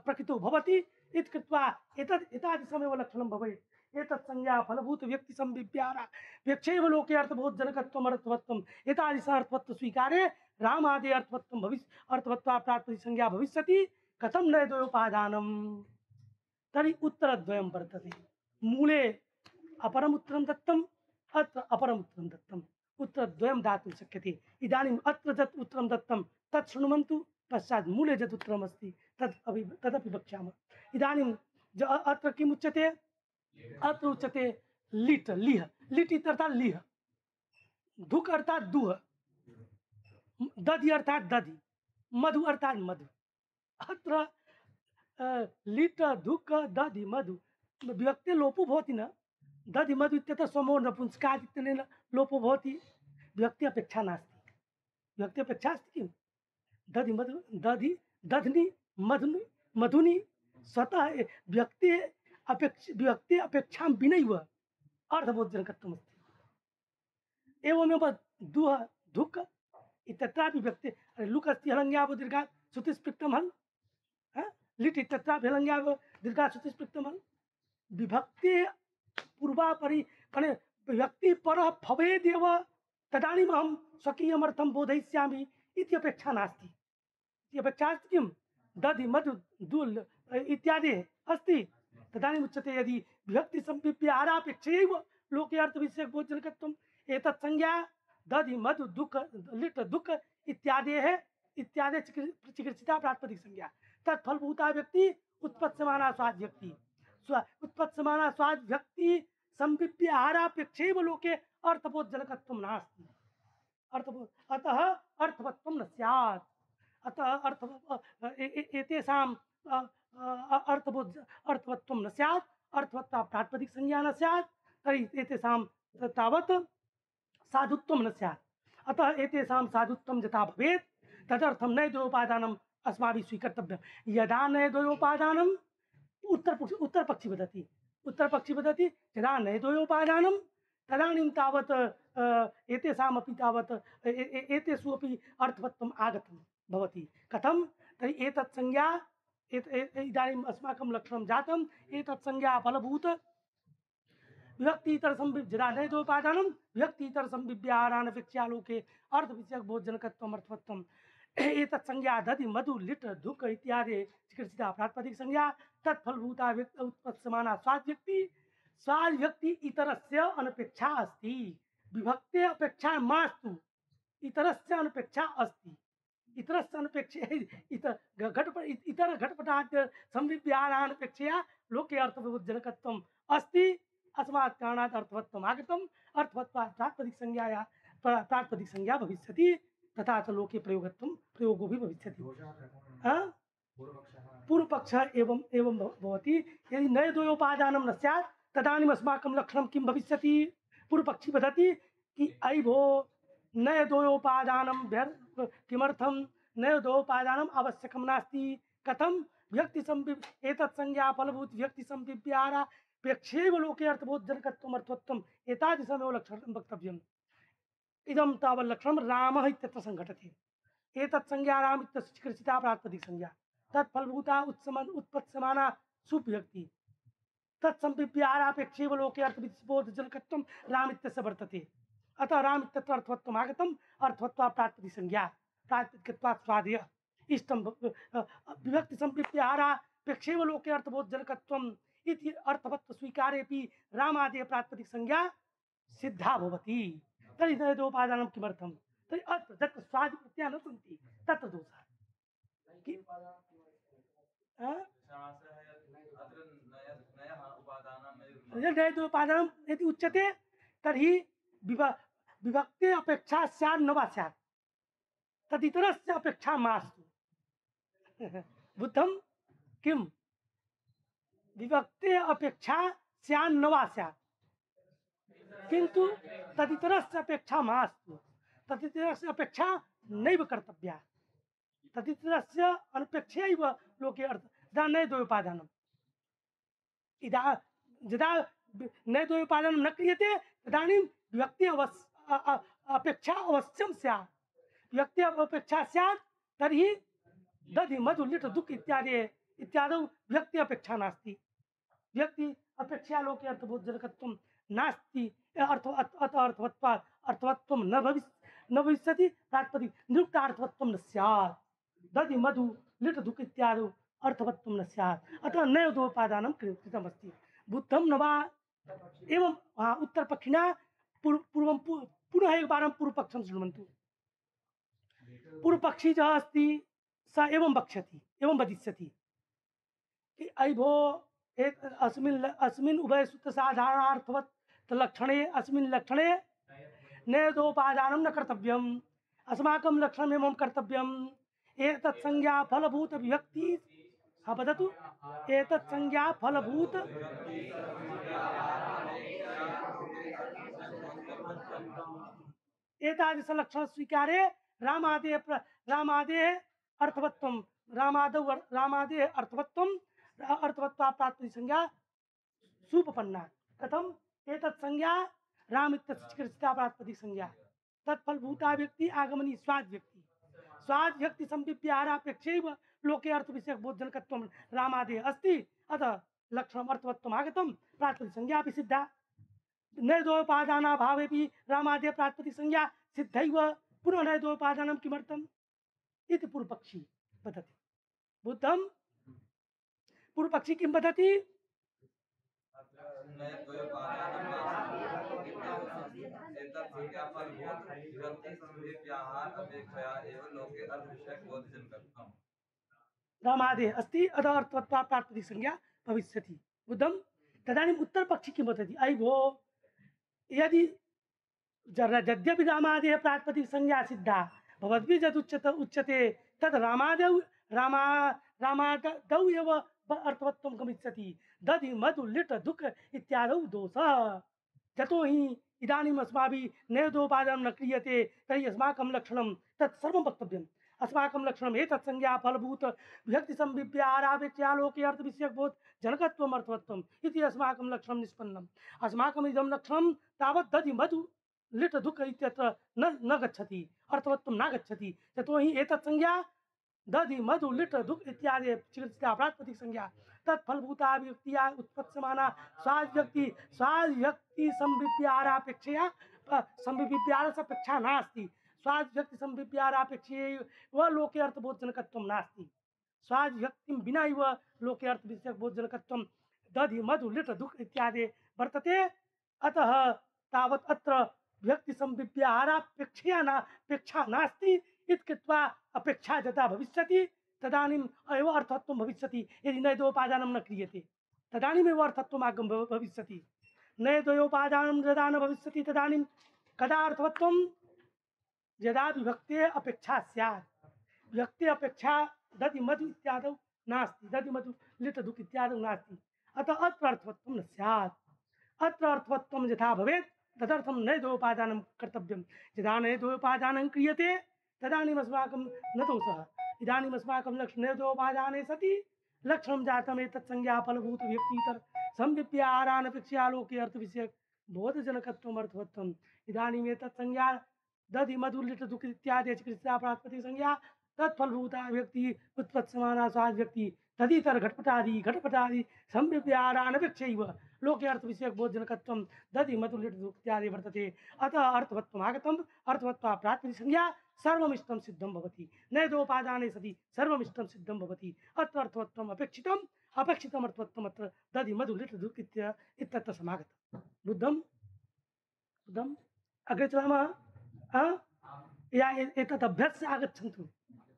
प्रकृतौ भवति इति कृत्वा एतद् एतादृशमेव लक्षणं भवेत् एतत् संज्ञा फलभूत व्यक्ति संविव्याहारा व्यक्षैव लोके अर्थबोधजनकत्वम् अर्थवत्वम् एतादृश अर्थवत्व स्वीकारे रामादि अर्थवत्वं भविष्य अर्थवत्वा प्रातिपदिक संज्ञा भविष्यति कथं न द्वयोपादानं? तर्हि उत्तरद्वयं वर्तते मूले अपरम् उत्तरं दत्तम् अत्र अपरम् उत्तरं दत्तम् उत्तरद्वयं दातुं शक्यते। इदानीम् अत्र यत् उत्तरं दत्तं तत् शृण्वन्तु, पश्चात् मूले यत् उत्तरमस्ति तद् अपि तदपि वक्ष्यामः। इदानीं ज अत्र किम् उच्यते? अत्र उच्यते लिट् लिह। लिट् इत्यर्थात् लिह, धुक् अर्थात् दुह, दधि अर्थात् दधि, मधु अर्थात् मधु। अत्र लिट् धुक् दधि मधु विभक्ते लोपो भवति न। दधि मधु इत्यतः समो नपुंसकात् इत्यनेन लोपो भवति, विभक्ति अपेक्षा नास्ति। विभक्ति अपेक्षा अस्ति किं? दधि मधु दधि दध्नि मधुनि मधुनि स्वतः विभक्ति अपेक्ष विभक्ति अपेक्षां विनैव अर्थबोधजनकत्वमस्ति। एवमेव दुह धुक् इत्यत्रापि विभक्ति लुक् अस्ति हलङ्ग्यावो दीर्घात् श्रुतिस्पृक्तं हल्, लिट् इत्यत्रापि हलङ्ग्यावो दीर्घात् श्रुतिस्पृक्तं हल्। विभक्ति पूर्वापरि माने विभक्ति परः भवेदेव तदानीम् अहं स्वकीयमर्थं बोधयिष्यामि इति अपेक्षा नास्ति। इति अपेक्षा अस्ति किं? दधि मधु दुल् इत्यादि अस्ति, तदानीम् उच्यते यदि विभक्ति संविभ्याहारापेक्षयैव लोके अर्थविषयकबोधजनकत्वम् एतत् संज्ञा दधि मधु दुःख लिट् दुःख इत्यादेः इत्यादि चिकित्सिता प्रातिपदिक संज्ञा तत्फलभूता व्यक्ति उत्पत्स्यमाना स्वाद व्यक्ति स्व उत्पत्स्यमाना स्वाद व्यक्ति संविभ्याहारापेक्षैव लोके अर्थबोधजनकत्वं नास्ति। अर्थबोध अतः अर्थवत्वं न स्यात्। अतः अर्थ एतेषाम् अर्थबोध अर्थवत्वं न स्यात्, अर्थवत्ता प्रातिपदिक संज्ञा न स्यात्, तर्हि एतेषां तावत् साधुत्वं न स्यात्। अतः एतेषां साधुत्वं यथा भवेत् तदर्थं नैद्वयोपादानम् अस्माभिः स्वीकर्तव्यं। यदा नैद्वयोपादानम् उत्तरपक्षी उत्तरपक्षी वदति उत्तरपक्षी वदति यदा नैद्वयोपादानं तदानीं तावत् एतेषामपि तावत् एतेषु अपि अर्थवत्वम् आगतं भवति। कथं? तर्हि एतत् संज्ञा इदानीम् अस्माकं लक्षणं जातम्। एतत् संज्ञा फलभूत विभक्तितर संविभ्य यदा नैद्वयोपादानं विभक्तितर संविभ्याहारानपेक्षया लोके अर्थविषयकबोधजनकत्वम् अर्थवत्वम् एतत् संज्ञा दधि मधु लिट् धुक् इत्यादि चिकित्सिता प्रातिपदिक संज्ञा तत्फलभूता उत्पत्स्यमाना स्वाद व्यक्ति स्वाद व्यक्ति इतरस्य अनपेक्षा अस्ति। विभक्ते अपेक्षा मास्तु, इतरस्य अनपेक्षा अस्ति। इतरस्य अनपेक्षा इतर घटपट इतर घटपटाद्य संविभ्याहारानपेक्षया लोके अर्थबोधजनकत्वम् अस्ति। अस्मात् कारणात् अर्थवत्वम् आगतम्। अर्थवत्वात् प्रातिपदिक संज्ञाया प्रातिपदिक संज्ञा भविष्यति, तथा च लोके प्रयोगत्वं प्रयोगो भी भविष्यति। पूर्वपक्षः एवं एवं भवति। यदि नैद्वयोपादानं न स्यात् तदानीम् अस्माकं लक्षणं किं भविष्यति? पूर्वपक्षी वदति कि अयि भो नैद्वयोपादानं किमर्थं? नैद्वयोपादानम् आवश्यकं नास्ति। कथं? व्यक्ति संविभ एतत् संज्ञा फलभूत व्यक्ति संविभ्याहारापेक्षैव लोके अर्थबोधजनकत्वम् अर्थवत्वम् एतादृशमेव लक्षणं वक्तव्यम्। इदं तावत् लक्षणं रामः इत्यत्र संघटते। एतत् संज्ञा राम इत्यस्य चिकित्सिता प्रातिपदिक संज्ञा तत्फलभूता उत्समन उत्पत्स्यमाना सुव्यक्ति तत्संविभ्याहारापेक्षैव लोके अर्थबोधजनकत्वं राम इत्यस्य वर्तते। अतः राम इत्यत्र अर्थवत्वम् आगतम्। अर्थवत्वा प्रातिपदिक संज्ञा प्रातिपदिकत्वात् स्वादय इष्टं विभक्ति संविभ्याहारापेक्षैव लोके अर्थबोधजनकत्वम् इति अर्थवत्व स्वीकारेपि रामादि प्रातिपदिक संज्ञा सिद्धा भवति। तर्हि नैद्वयोपादानं किमर्थं? तर्हि अत्र तत्र स्वादि प्रत्ययाः न सन्ति, तत्र दोषः। नैद्वयोपादानं यदि उच्यते तर्हि विभक्ते अपेक्षा स्यात् न वा स्यात्, तदितरस्य अपेक्षा मास्तु। बुद्धं किं? विभक्ते अपेक्षा स्यात् न वा स्यात्, किंतु तदितरस्य अपेक्षा मास्तु। तदितरस्य अपेक्षा नैव कर्तव्या। तदितरस्य अनपेक्षयैव लोके अर्थ यदा नैद्वयोपादानम् इदा यदा नैद्वयोपादानं न क्रियते तदानीं व्यक्ति अवश्य अपेक्षा अवश्यं स्यात्। व्यक्ति अपेक्षा स्यात् तर्हि दधि मधु लिट् दुःख इत्यादि इत्यादौ व्यक्ति अपेक्षा नास्ति। व्यक्ति अपेक्षा लोके अर्थबोधजनकत्वं नास्ति। अर्थ अतः अर्थवत्वात् अर्थवत्वं न भविष्य न भविष्यति। प्रातिपदिक निरुक्तार्थवत्वं न स्यात्। दधि मधु लिट् दुःख इत्यादौ अर्थवत्वं न स्यात्। अतः नैद्वयोपादानं कृतमस्ति। बुद्धं न वा एवं उत्तरपक्षिणा पूर्वं पुनः एकवारं पूर्वपक्षं शृण्वन्तु। पूर्वपक्षी यः अस्ति स एवं वक्ष्यति एवं वदिष्यति कि अयि भो एक अस्मिन् अस्मिन् उभयसूत्रसाधारणार्थवत् लक्षणे अस्मिन् लक्षणे नेदोपादानं न कर्तव्यम् अस्माकं लक्षणम् एवं कर्तव्यम् एतत् संज्ञा फलभूत विभक्ति हाँ वदतु एतत् संज्ञा फलभूत एतादृश लक्षण स्वीकारे रामादे रामादे अर्थवत्वं रामादौ रामादे अर्थवत्वं अर्थवत्वा प्राप्ति संज्ञा सुपपन्ना कथम एतत् संज्ञा राम इत्यस्य चिकित्सा प्राप्ति संज्ञा तत्फलभूता व्यक्ति आगमनी स्वाद व्यक्ति स्वाद व्यक्ति संविप्यारापेक्षैव लोके अर्थ विषयक बोधजनकत्वं रामादे अस्ति अतः लक्षणम् अर्थवत्वम् आगतं प्राप्ति संज्ञा अपि सिद्धा नैदोपादानाभावेपि रामादे प्राप्ति संज्ञा सिद्धैव पुनः नैदोपादानं किमर्थम् इति पूर्वपक्षी वदति। बुद्धं पूर्वपक्षी किं वदति? रामादे अस्ति अतः अर्थवत्वा प्राप्ति संज्ञा भविष्यति। बुद्धं तदानीम् उत्तरपक्षी किं वदति? अयि भो यदि यद्यपि रामादे प्राप्ति संज्ञा सिद्धा भवद्भिः यद् उच्यते उच्यते तद् रामादौ रामा रामादौ एव अर्थवत्वं गमिष्यति। दधि मधु लिट दुःख इत्यादौ दोषः यतो हि इदानीम् अस्माभिः नेदोपादानं न क्रियते तर्हि अस्माकं लक्षणं तत् सर्वं वक्तव्यम्। अस्माकं लक्षणम् एतत् संज्ञा फलभूत विभक्ति संविप्यारापेक्षया लोके अर्थ विषयक बोध जनकत्वम् अर्थवत्वम् इति अस्माकं लक्षणं निष्पन्नम्। अस्माकम् इदं लक्षणं तावत् दधि मधु लिट दुःख इत्यत्र न न गच्छति अर्थवत्वं न गच्छति यतो हि एतत् संज्ञा दधि मधु लिट दुःख इत्यादि चिकित्सा प्राप्ति संज्ञा तत्फलभूता व्यक्तिया उत्पत्स्यमाना स्वाद व्यक्ति स्वाद व्यक्ति संविप्यारापेक्षया संविप्यारस्यपेक्षा नास्ति स्वाद व्यक्ति संविप्यारापेक्षया व लोके अर्थबोधजनकत्वं नास्ति स्वाद व्यक्तिं विना एव लोके अर्थ विषयक बोधजनकत्वं दधि मधु लिट दुःख इत्यादि वर्तते। अतः तावत् अत्र व्यक्ति संविप्यारापेक्षया न अपेक्षा नास्ति इति कृत्वा अपेक्षा यदा भविष्यति तदानीम् एव अर्थत्वं भविष्यति। यदि नैदोपादानं न क्रियते तदानीमेव अर्थत्वम् आगम भविष्यति। नैदोपादानं यदा न भविष्यति तदानीं कदा अर्थवत्वं? यदा विभक्ते अपेक्षा स्यात्। विभक्ते अपेक्षा दधि मधु इत्यादौ नास्ति दधि मधु लिट दुःख इत्यादौ नास्ति अतः अत्र अर्थवत्वं न स्यात्। अत्र अर्थवत्वं यथा भवेत् तदर्थं नैदोपादानं कर्तव्यं। यदा नैदोपादानं क्रियते तदानीम् अस्माकं न दोषः। इदानीम् अस्माकं लक्ष्य नैदोपादाने सति लक्षणं जातम् एतत् संज्ञा फलभूत व्यक्तितर संविप्यारानपेक्षया लोके अर्थ विषयक बोधजनकत्वम् अर्थवत्वम्। इदानीम् एतत् संज्ञा दधि मधु लिट दुःख इत्यादि चिकित्सा प्राप्ति संज्ञा तत्फलभूता व्यक्ति उत्पत्स्यमाना स्वाद व्यक्ति तदितर घटपटादि घटपटादि संविप्यारानपेक्षैव लोके अर्थ विषयक बोधजनकत्वं दधि मधु लिट दुःख इत्यादि वर्तते। अतः अर्थवत्वम् आगतम् अर्थवत्वा प्राप्ति संज्ञा सर्वमिष्टं सिद्धं भवति। नैदोपादाने सति सर्वमिष्टं सिद्धं भवति। अत्र अर्थवत्वम् अपेक्षितम् अपेक्षितम् अर्थवत्वम् अत्र दधि मधु लिट दुःख इत्यत्र समागतम्। बुद्धं बुद्धम् अग्रे चलामः। या एतत् अभ्यास आगच्छन्तु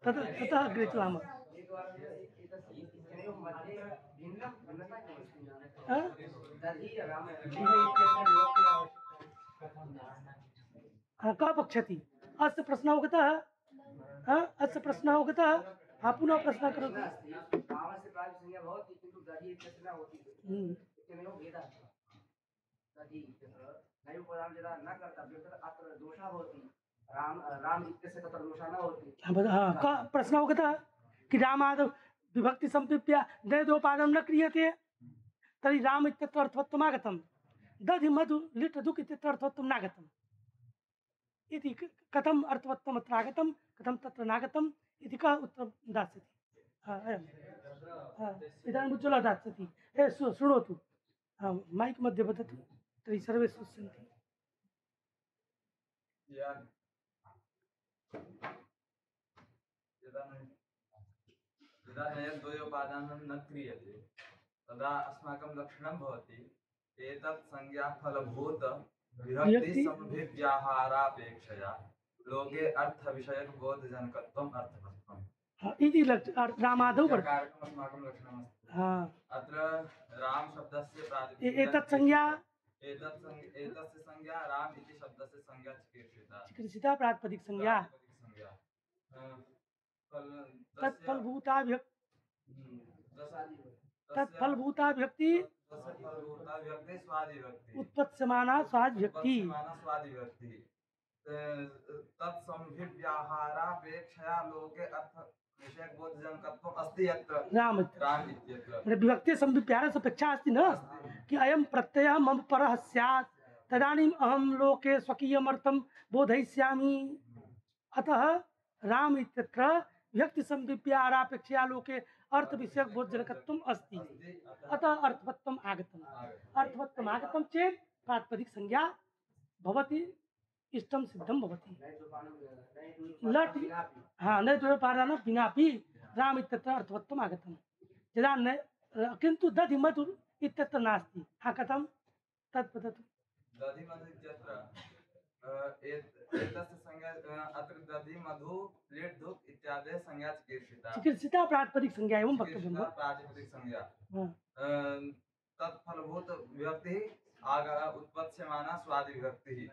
तत् ततः अग्रे चलामः। कः पक्षति? अस्य प्रश्नः अवगतः? अस्य प्रश्नः अवगतः? हाँ पुनः प्रश्नः करोतु। प्रश्न अवगतः कि रामादौ विभक्ति संविप्य नैदोपादानं न क्रियते तर्हि राम इत्यत्र अर्थवत्वम् आगतं दधि मधु लिट दुःख इत्यत्र अर्थवत्वं नागतम् इति कथम् अर्थवत्वम् अत्र आगतं कथं तत्र नागतम् इति कः उत्तरं दास्यति? इदानीम् उज्ज्वला दास्यति। ए शृणोतु मैक् मध्ये वदतु तर्हि सर्वे श्रुण्वन्ति। यदा नैदोपादानं न क्रियते तदा अस्माकं लक्षणं भवति एतत् संज्ञा फलभूत विभक्ति विभक्ति संभिव्याहारापेक्षया लोके अर्थ विषयक बोधजनकत्वम् अर्थवत्त्वम्। हाँ, इति लक्ष रामादौ वर्तते। कारकम् अस्माकं लक्षणमस्ति। हाँ, अत्र राम शब्दस्य ए- प्रातिपदिकं एतत् संज्ञा एतत् संज्ञा एतस्य संज्ञा राम इति शब्दस्य संज्ञा चिकीर्षिता। चिकीर्षिता प्रातिपदिक संज्ञा प्रातिपदिक संज्ञा अ, फल- तस्य- तत्फलभूता विभक्ति हम्म, तस्य- तत्फलभूता विभक्ति तस्य फलभूता विभक्ति स्वादिविभक्ति उत्पत्स्यमाना स्वाद विभक्ति उत्पत्स्यमाना स्वादिविभक्ति तत्संभिव्याहारापेक्षया लोके अर्थ विषयक बोधजनकत्वम् अस्ति यत्र राम राम इत्यत्र अरे विभक्ति संविप्यारस अपेक्षा अस्ति न कि अयं प्रत्ययः मम परः स्यात् तदानीम् अहं लोके स्वकीयमर्थं बोधयिष्यामि। अतः राम इत्यत्र विभक्ति संविप्यारापेक्षया लोके अर्थ विषयक बोधजनकत्वम् अस्ति। अतः अर्थवत्वम् आगतम्। अर्थवत्वम् आगतं चेत् प्रातिपदिक संज्ञा भवति, इष्टं सिद्धं भवति। लट् हाँ न द्वयोपादान विनापि राम इत्यत्र अर्थवत्वम् आगतम्। यदा न किन्तु दधि मधु इत्यत्र नास्ति। हाँ कथं तत् वदतु। दधि मधु इत्यत्र अ, एत- एतस्य संज्ञा अ, अत्र दधि मधु लीट् धुक् इत्यादयः संज्ञा चिकीर्षिता। चिकीर्षिता प्रातिपदिक संज्ञा एवं वक्तव्यं चिकीर्षिता वा? प्रातिपदिक संज्ञा हाँ, अ, तत्फलभूत विभक्तिः आग उत्पत्स्यमाना स्वादि विभक्तिः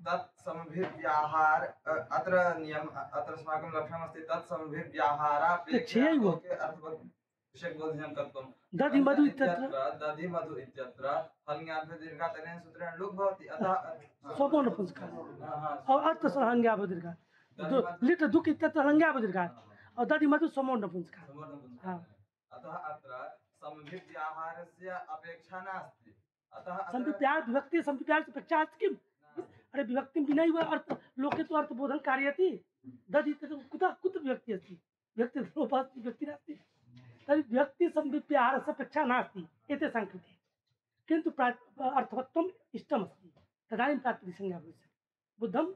तत्संभिव्याहार अ, अत्र नियम अत्र अस्माकं लक्षणमस्ति तत्संभिव्याहारापेक्षया तच्छैव। लोके अर्थवत् विषयकबोधजनकत्वम्। दधि मधु इत्यत्र इत्यत्र दधि मधु इत्यत्र हल्ङ्याभ्यो दीर्घात् अनेन सूत्रेण लुक् भवति अतः स्वपो नपुंसकः हाँ, हाँ, और अर्थ संज्ञा बदृघात् लिट दुख इत्यत्र संज्ञा बदृघात् और दधि मधु समो नपुंसकः। समर्थनं हाँ। अतः अत्र संभिव्याहारस्य अपेक्षा नास्ति। अतः अत्र संविप्यार विभक्ति संविप्यार से अपेक्षा अस्ति किम्? अरे विभक्ति विना एव अर्थ लोके तु अर्थबोधन कार्यति। दधि इत्यत्र कुतः कुत्र विभक्ति अस्ति? विभक्ति लोपः अस्ति, विभक्ति नास्ति। तर्हि विभक्ति संविप्यारस्य अपेक्षा नास्ति एतेषां कृते। किन्तु प्रा अर्थवत्वम् इष्टमस्ति तदानीं प्रातिपदिक संज्ञा भविष्यति। बुद्धं?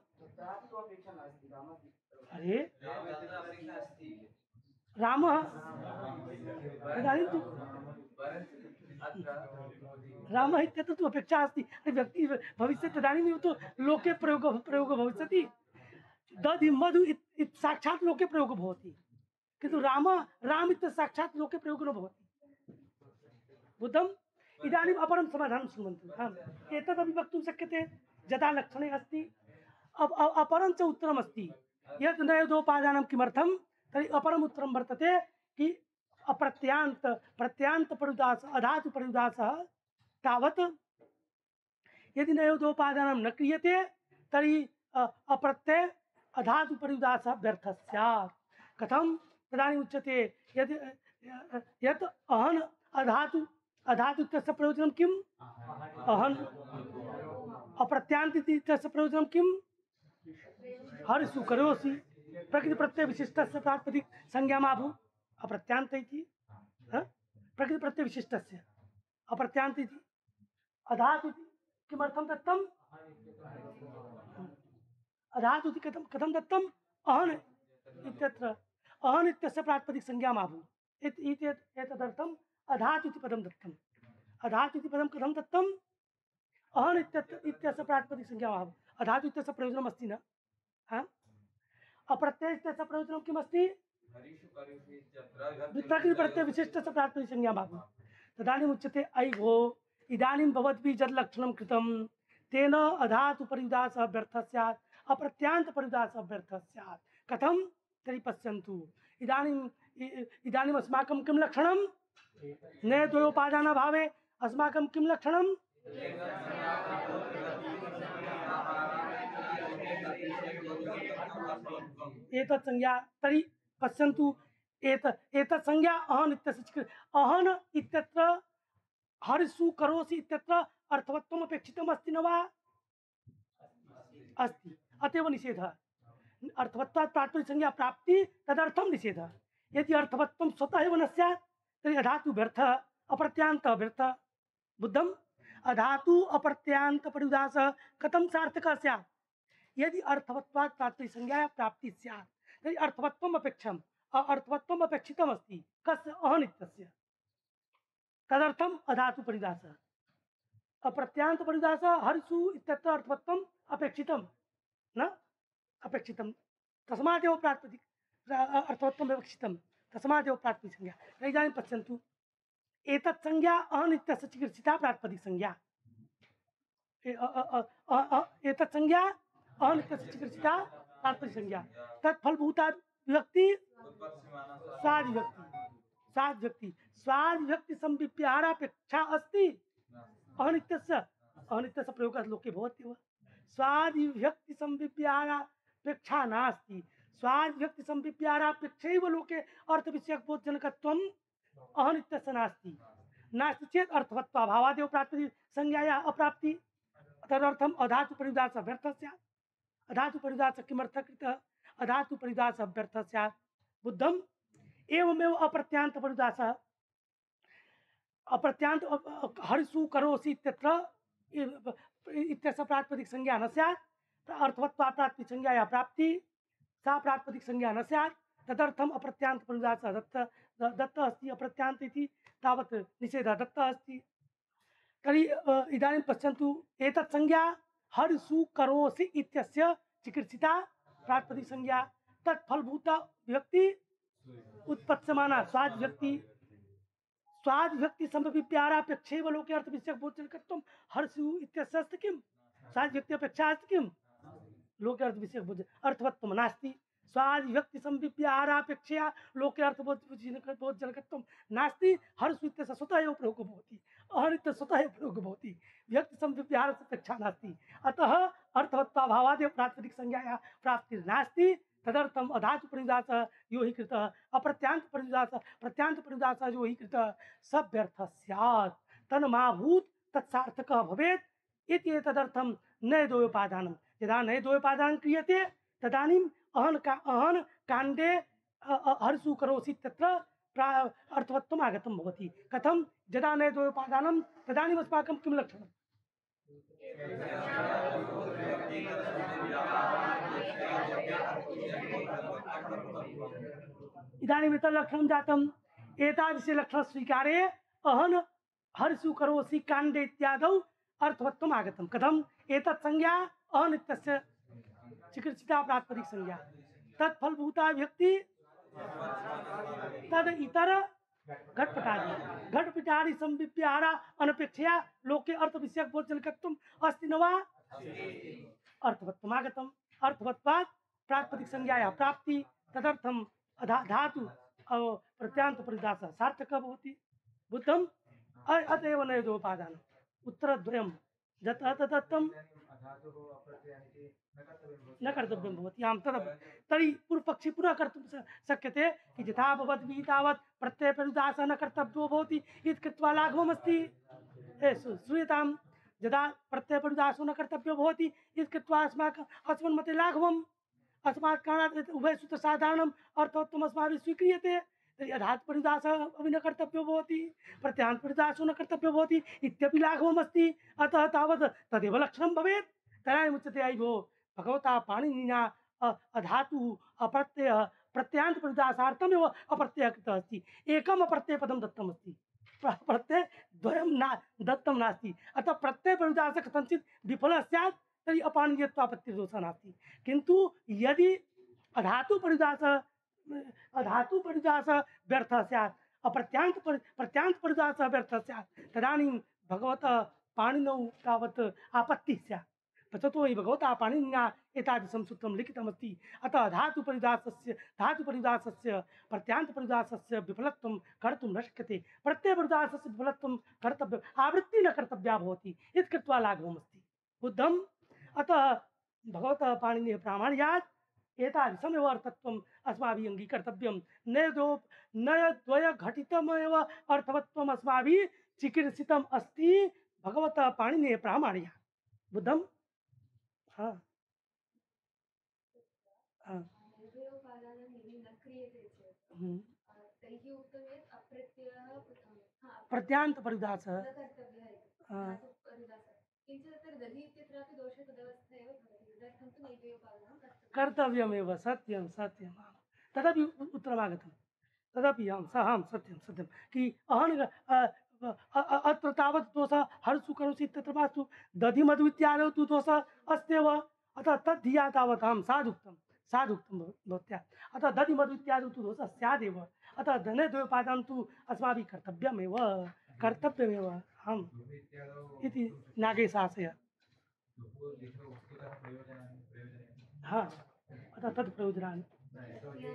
अरे रामः तदानीं तु रामः इत्यत्र तु अपेक्षा अस्ति। अरे व्यक्ति भविष्यति तदानीमेव तु लोके प्रयोगः प्रयोगः भविष्यति। दधि मधु इत्- इत् साक्षात् लोके प्रयोगः भवति, किन्तु राम राम इत्यस्य साक्षात् लोके प्रयोगः न भवति। बुद्धम्? इदानीम् अपरं समाधानं शृण्वन्तु। आम् एतदपि वक्तुं शक्यते यथा लक्षणे अस्ति। अब अ- अपरं च उत्तरमस्ति यत् नयोदोपादानं किमर्थं? तर्हि अपरम् उत्तरं वर्तते कि अप्रत्यान्त प्रत्यान्त परिदास अधातु परिदासः तावत् यदि नयोदोपादानं न क्रियते तर्हि अ- अप्रत्यय अधातु परिदासः व्यर्थः स्यात्। कथं? तदानीम् उच्यते यद् यत् अहन् अधातु अधातु इत्यस्य प्रयोजनं किम्? अहन्। अप्रत्यान्त इत्यस्य प्रयोजनं किम्? हर्षु करोसि। प्रकृति प्रत्यय विशिष्टस्य प्रातिपदिक संज्ञामाभू अप्रत्यान्त इति। हाँ? प्रकृति प्रत्यय विशिष्टस्य अप्रत्यान्त इति। अधातु इति किमर्थं दत्तम्? अधातु इति कथं कथं दत्तम्? अहन् इत्यत्र अहन् इत्यस्य प्रातिपदिक संज्ञामाभू इति इति एतदर्थम् अधातु इति पदं दत्तम्। अधातु इति पदं कथं दत्तम्? अहन् इत्यत्र इत्यस्य प्रातिपदिक संज्ञामाभू। अधातु इत्यस्य प्रयोजनमस्ति न? हाँ? अप्रत्यय इत्यस्य प्रयोजनं किमस्ति? हरिषु करिषु इत्यत्र प्रकृति प्रत्यय विशिष्टस्य प्रातिपदिक संज्ञामाभू। तदानीम् उच्यते अयि भो इदानीं भवद्भिः यद् लक्षणं कृतं तेन अधातु परिदासः व्यर्थः स्यात्, अप्रत्यान्त परिदासः व्यर्थः स्यात्। कथं? तर्हि पश्यन्तु इदानीम् इ- इदानीम् अस्माकं किं लक्षणं? न द्वयोपादानाभावे अस्माकं किं लक्षणं? एतत् संज्ञा तर्हि पश्यन्तु एत एतत् संज्ञा अहन् इत्यस्य चिकी- अहन् इत्यत्र हर्षु करोसि इत्यत्र अर्थवत्वम् अपेक्षितम् अस्ति न वा? अस्ति। अतएव निषेधः। अर्थवत्वात् प्रातिपदिक संज्ञा प्राप्ति तदर्थं निषेधः। यदि अर्थवत्वं स्वतः एव न स्यात् तर्हि अधातु व्यर्थः, अप्रत्यान्तः व्यर्थः। बुद्धम्? अधातु अप्रत्यान्त परिदासः कथं सार्थकः स्यात्? यदि अर्थवत्वात् प्रातिपदिक संज्ञायाः प्राप्ति स्यात् तर्हि अर्थवत्वम् अपेक्षम् अर्थवत्वम् अपेक्षितमस्ति। कस्य? अहन् इत्यस्य। तदर्थम् अधातु परिदासः। अप्रत्यांत परिदास हर्षु इत्यत्र अर्थवत्वम् अपेक्षितम न अपेक्षितम तस्मादेव प्रातिपदिक अर्थवत्वम् अपेक्षितम तस्मादेव प्रातिपदिक संज्ञा। इदानीं पश्यन्तु एतत् संज्ञा अनित्यस्य चिकित्सिता प्रातिपदिक संज्ञा एतत् संज्ञा अनित्यस्य चिकित्सिता प्रातिपदिक संज्ञा तत्फलभूता विभक्ति स्वाद विभक्ति स्वाद विभक्ति स्वाद विभक्ति संविप्यारापेक्षा अस्ति अनित्यस्य अनित्यस्य प्रयोगः लोके भवत्येव स्वाद विभक्ति संविप्यारापेक्षा नास्ति स्वाद विभक्ति संविप्यारापेक्षैव लोके अर्थविषयक बोधजनकत्वम् अनित्यस्य नास्ति नास्ति चेत् अर्थवत्वाभावादेव प्रातिपदिक संज्ञायाः अप्राप्ति तदर्थम अधातु परिदास व्यर्थः स्यात् अधातु परिदास किमर्थः कृतः अधातु परिदास व्यर्थः स्यात् बुद्धम् एवमेव अप्रत्यांत परिदास अप्रत्यांत हरिषु करोसि इत्यत्र इत्यस्य प्रातिपदिक संज्ञा न स्यात् अर्थवत्वा प्रातिपदिक संज्ञायाः प्राप्ति सा प्रातिपदिक संज्ञा न स्यात् तदर्थम अप्रत्यांत परिदास दत्त दत्त अस्ति अप्रत्यांत इति तावत् निषेधः दत्तः अस्ति। तर्हि इदानीं पश्यन्तु एतत् संज्ञा हरिषु करोसि इत्यस्य चिकित्सिता प्रातिपदिक संज्ञा तत्फलभूता विभक्ति उत्पत्स्यमाना स्वाद विभक्ति स्वाद विभक्ति संविप्यारापेक्षैव लोके अर्थविषयक बोधजनकत्वं हर्षु इत्यस्य अस्ति किं स्वाद विभक्ति अपेक्षा अस्ति किं लोके अर्थविषयक बोध अर्थवत्वं नास्ति स्वाद विभक्ति संविप्यारापेक्षया लोके अर्थबोधजनकत्वं नास्ति हर्षु इत्यस्य स्वतः एव प्रयोगो भवति अहनित्य स्वतः एव प्रयोगो भवति विभक्ति संविप्यारस्य अपेक्षा नास्ति अतः अर्थवत्वाभावादेव प्रातिपदिक संज्ञायाः प्राप्तिर्नास्ति तदर्थम अधातु परिदास यो हि कृतः अप्रत्यांत परिदास प्रत्यांत परिदास यो हि कृतः स व्यर्थः स्यात् तन्माभूत् तत्सार्थकः भवेत् इति तदर्थम नयदोपादानं यदा नयदोपादानं क्रियते तदानीम् अहन का अहन काण्डे हर्षु करोसि तत्र अर्थवत्वम् आगतं भवति कथं यदा नयदोपादानं तदानीम् अस्माकं किं लक्षणम् इदानीम् एतत् लक्षणं जातम् एतादृशे लक्षणस्वीकारे अहन हर्षु करोसि काण्डे इत्यादौ अर्थवत्वम् आगतं कथम् एतत् संज्ञा अनित्यस्य चिकित्सिता प्रातिपदिक संज्ञा तत्फलभूता विभक्ति तद इतर घटपटादि घटपटादि संविप्यारा अनपेक्षया लोके अर्थविषयक बोधजनकत्वम् अस्ति न वा अर्थवत्वम् आगतम् अर्थवत्वात् प्रातिपदिक संज्ञायाः प्राप्ति तदर्थम् अधा धातु प्रत्यांत परिदासः सार्थकः भवति बुद्धम् अतएव नयदोपादानम् उत्तरद्वयं यतः तदर्थं न कर्तव्यं भवति आं तद् तर्हि पूर्वपक्षी पुनः कर्तुं शक्यते कि यथा भवद्भिः तावत् प्रत्ययपरिदासः न कर्तव्यो भवति इति कृत्वा लाघवमस्ति श्रूयतां यदा प्रत्ययपरिदासो न कर्तव्यो भवति इति कृत्वा अस्माकम् अस्मन्मते लाघवम् अस्मात् कारणात् उभयसूत्रसाधारणम् अर्थवत्वम् अस्माभिः स्वीक्रियते तर्हि अधातु परिदासः अपि न कर्तव्यो भवति प्रत्यांत परिदासो न कर्तव्यो भवति इत्यपि लाघवमस्ति अतः तावत् तदेव लक्षणं भवेत् तदानीम् उच्यते अयि भो भगवता पाणिनिना अधातुः अप्रत्ययः प्रत्यांत परिदासार्थमेव अप्रत्ययः कृतः अस्ति एकम् अप्रत्ययपदं दत्तमस्ति प्रत्ययद्वयं न दत्तं नास्ति अतः प्रत्ययपरिदासः कथञ्चित् विफलः स्यात् तर्हि अपाणिनीयत्वापत्तिर्दोषः नास्ति किन्तु यदि अधातुपरिदासः अधातुपरिदासः व्यर्थः स्यात् अप्रत्यांत प्रत्यांत परिदासः व्यर्थः स्यात् तदानीं भगवतः पाणिनौ तावत् आपत्तिः स्यात् ततो हि भगवता पाणिनिना एतादृशं सूत्रं लिखितमस्ति अतः धातुपरिदासस्य धातुपरिदासस्य प्रत्यांतपरिदासस्य विफलत्वं कर्तुं न शक्यते प्रत्ययपरिदासस्य विफलत्वं कर्तव्यम् आवृत्तिः न कर्तव्या भवति इति कृत्वा लाघवमस्ति बुद्धम् अतः भगवतः पाणिनेः प्रामाण्यात् एतादृशमेव अर्थत्वम् अस्माभिः अङ्गीकर्तव्यं नयदो नयद्वयघटितमेव अर्थवत्वम् अस्माभिः चिकीर्षितम् अस्ति भगवतः पाणिनेः प्रामाण्यात् बुद्धम् हाँ हाँ प्रत्यांत परिदासः कर्तव्यमेव सत्यं सत्यं तदपि उत्तरमागतं तदपि आं स आं सत्यं सत्यं कि अहन अ- अ- अत्र तावत् दोषः हर्षु करोषि तत्र मास्तु दधि मधु इत्यादौ तु दोषः अस्त्येव अतः तद्धिया तावत् अहं साधुक्तं साधुक्तं भव- भवत्या अतः दधि मधु इत्यादौ तु दोषः स्यादेव अतः धने द्वयोपादानं तु अस्माभिः कर्तव्यमेव कर्तव्यमेव अहम् दुहित्यादौ इति नागेशासय दुः लिखितो वस्तुतः प्रयोजनानि प्रयोजनानि हा अतः तत् प्रयोजनानि न यतोहि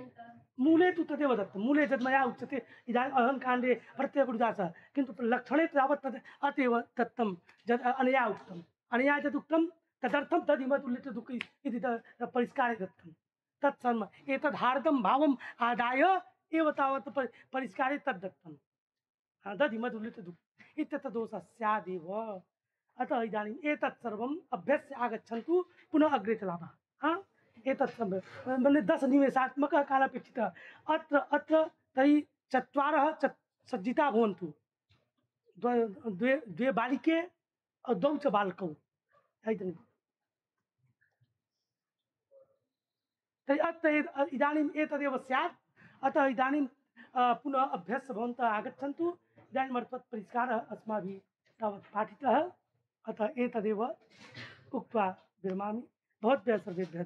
मूले तु तदेव दत्तं मूले यद् मया उच्यते इदानीम् अहङ्काण्डे प्रत्ययगुरुदासः किन्तु लक्षणे तावत् तद् अतएव दत्तं यद् अनया उक्तम् अनया यदुक्तं तदर्थं तदिमतुल्यदुःख इति त- परिष्कारे दत्तं तत्सर्व एतद् हार्दं भावम् आदाय एव तावत् परि- परिष्कारे तद् दत्तं दधिमतुल्यदुःख इत्यत्र दोषः स्यादेव अतः इदानीम् एतत् सर्वम् अभ्यस्य आगच्छन्तु पुनः अग्रे चलामः हा एतत् सर्वं मन्ये दशनिमेषात्मकः कालः अपेक्षितः अत्र अत्र तर्हि चत्वारः च सज्जिता भवन्तु द्वे द्वे द्वे बालिके द्वौ च बालकौ इदानीं तर्हि अत्र एत- इदानीम् एतदेव स्यात् अतः इदानीं अ, पुनः अभ्यस्य भवन्तः आगच्छन्तु इदानीम् अर्थात् परिष्कारः अस्माभिः तावत् पाठितः अतः एतदेव उक्त्वा विरमामि भवद्भ्यः सर्वेभ्यः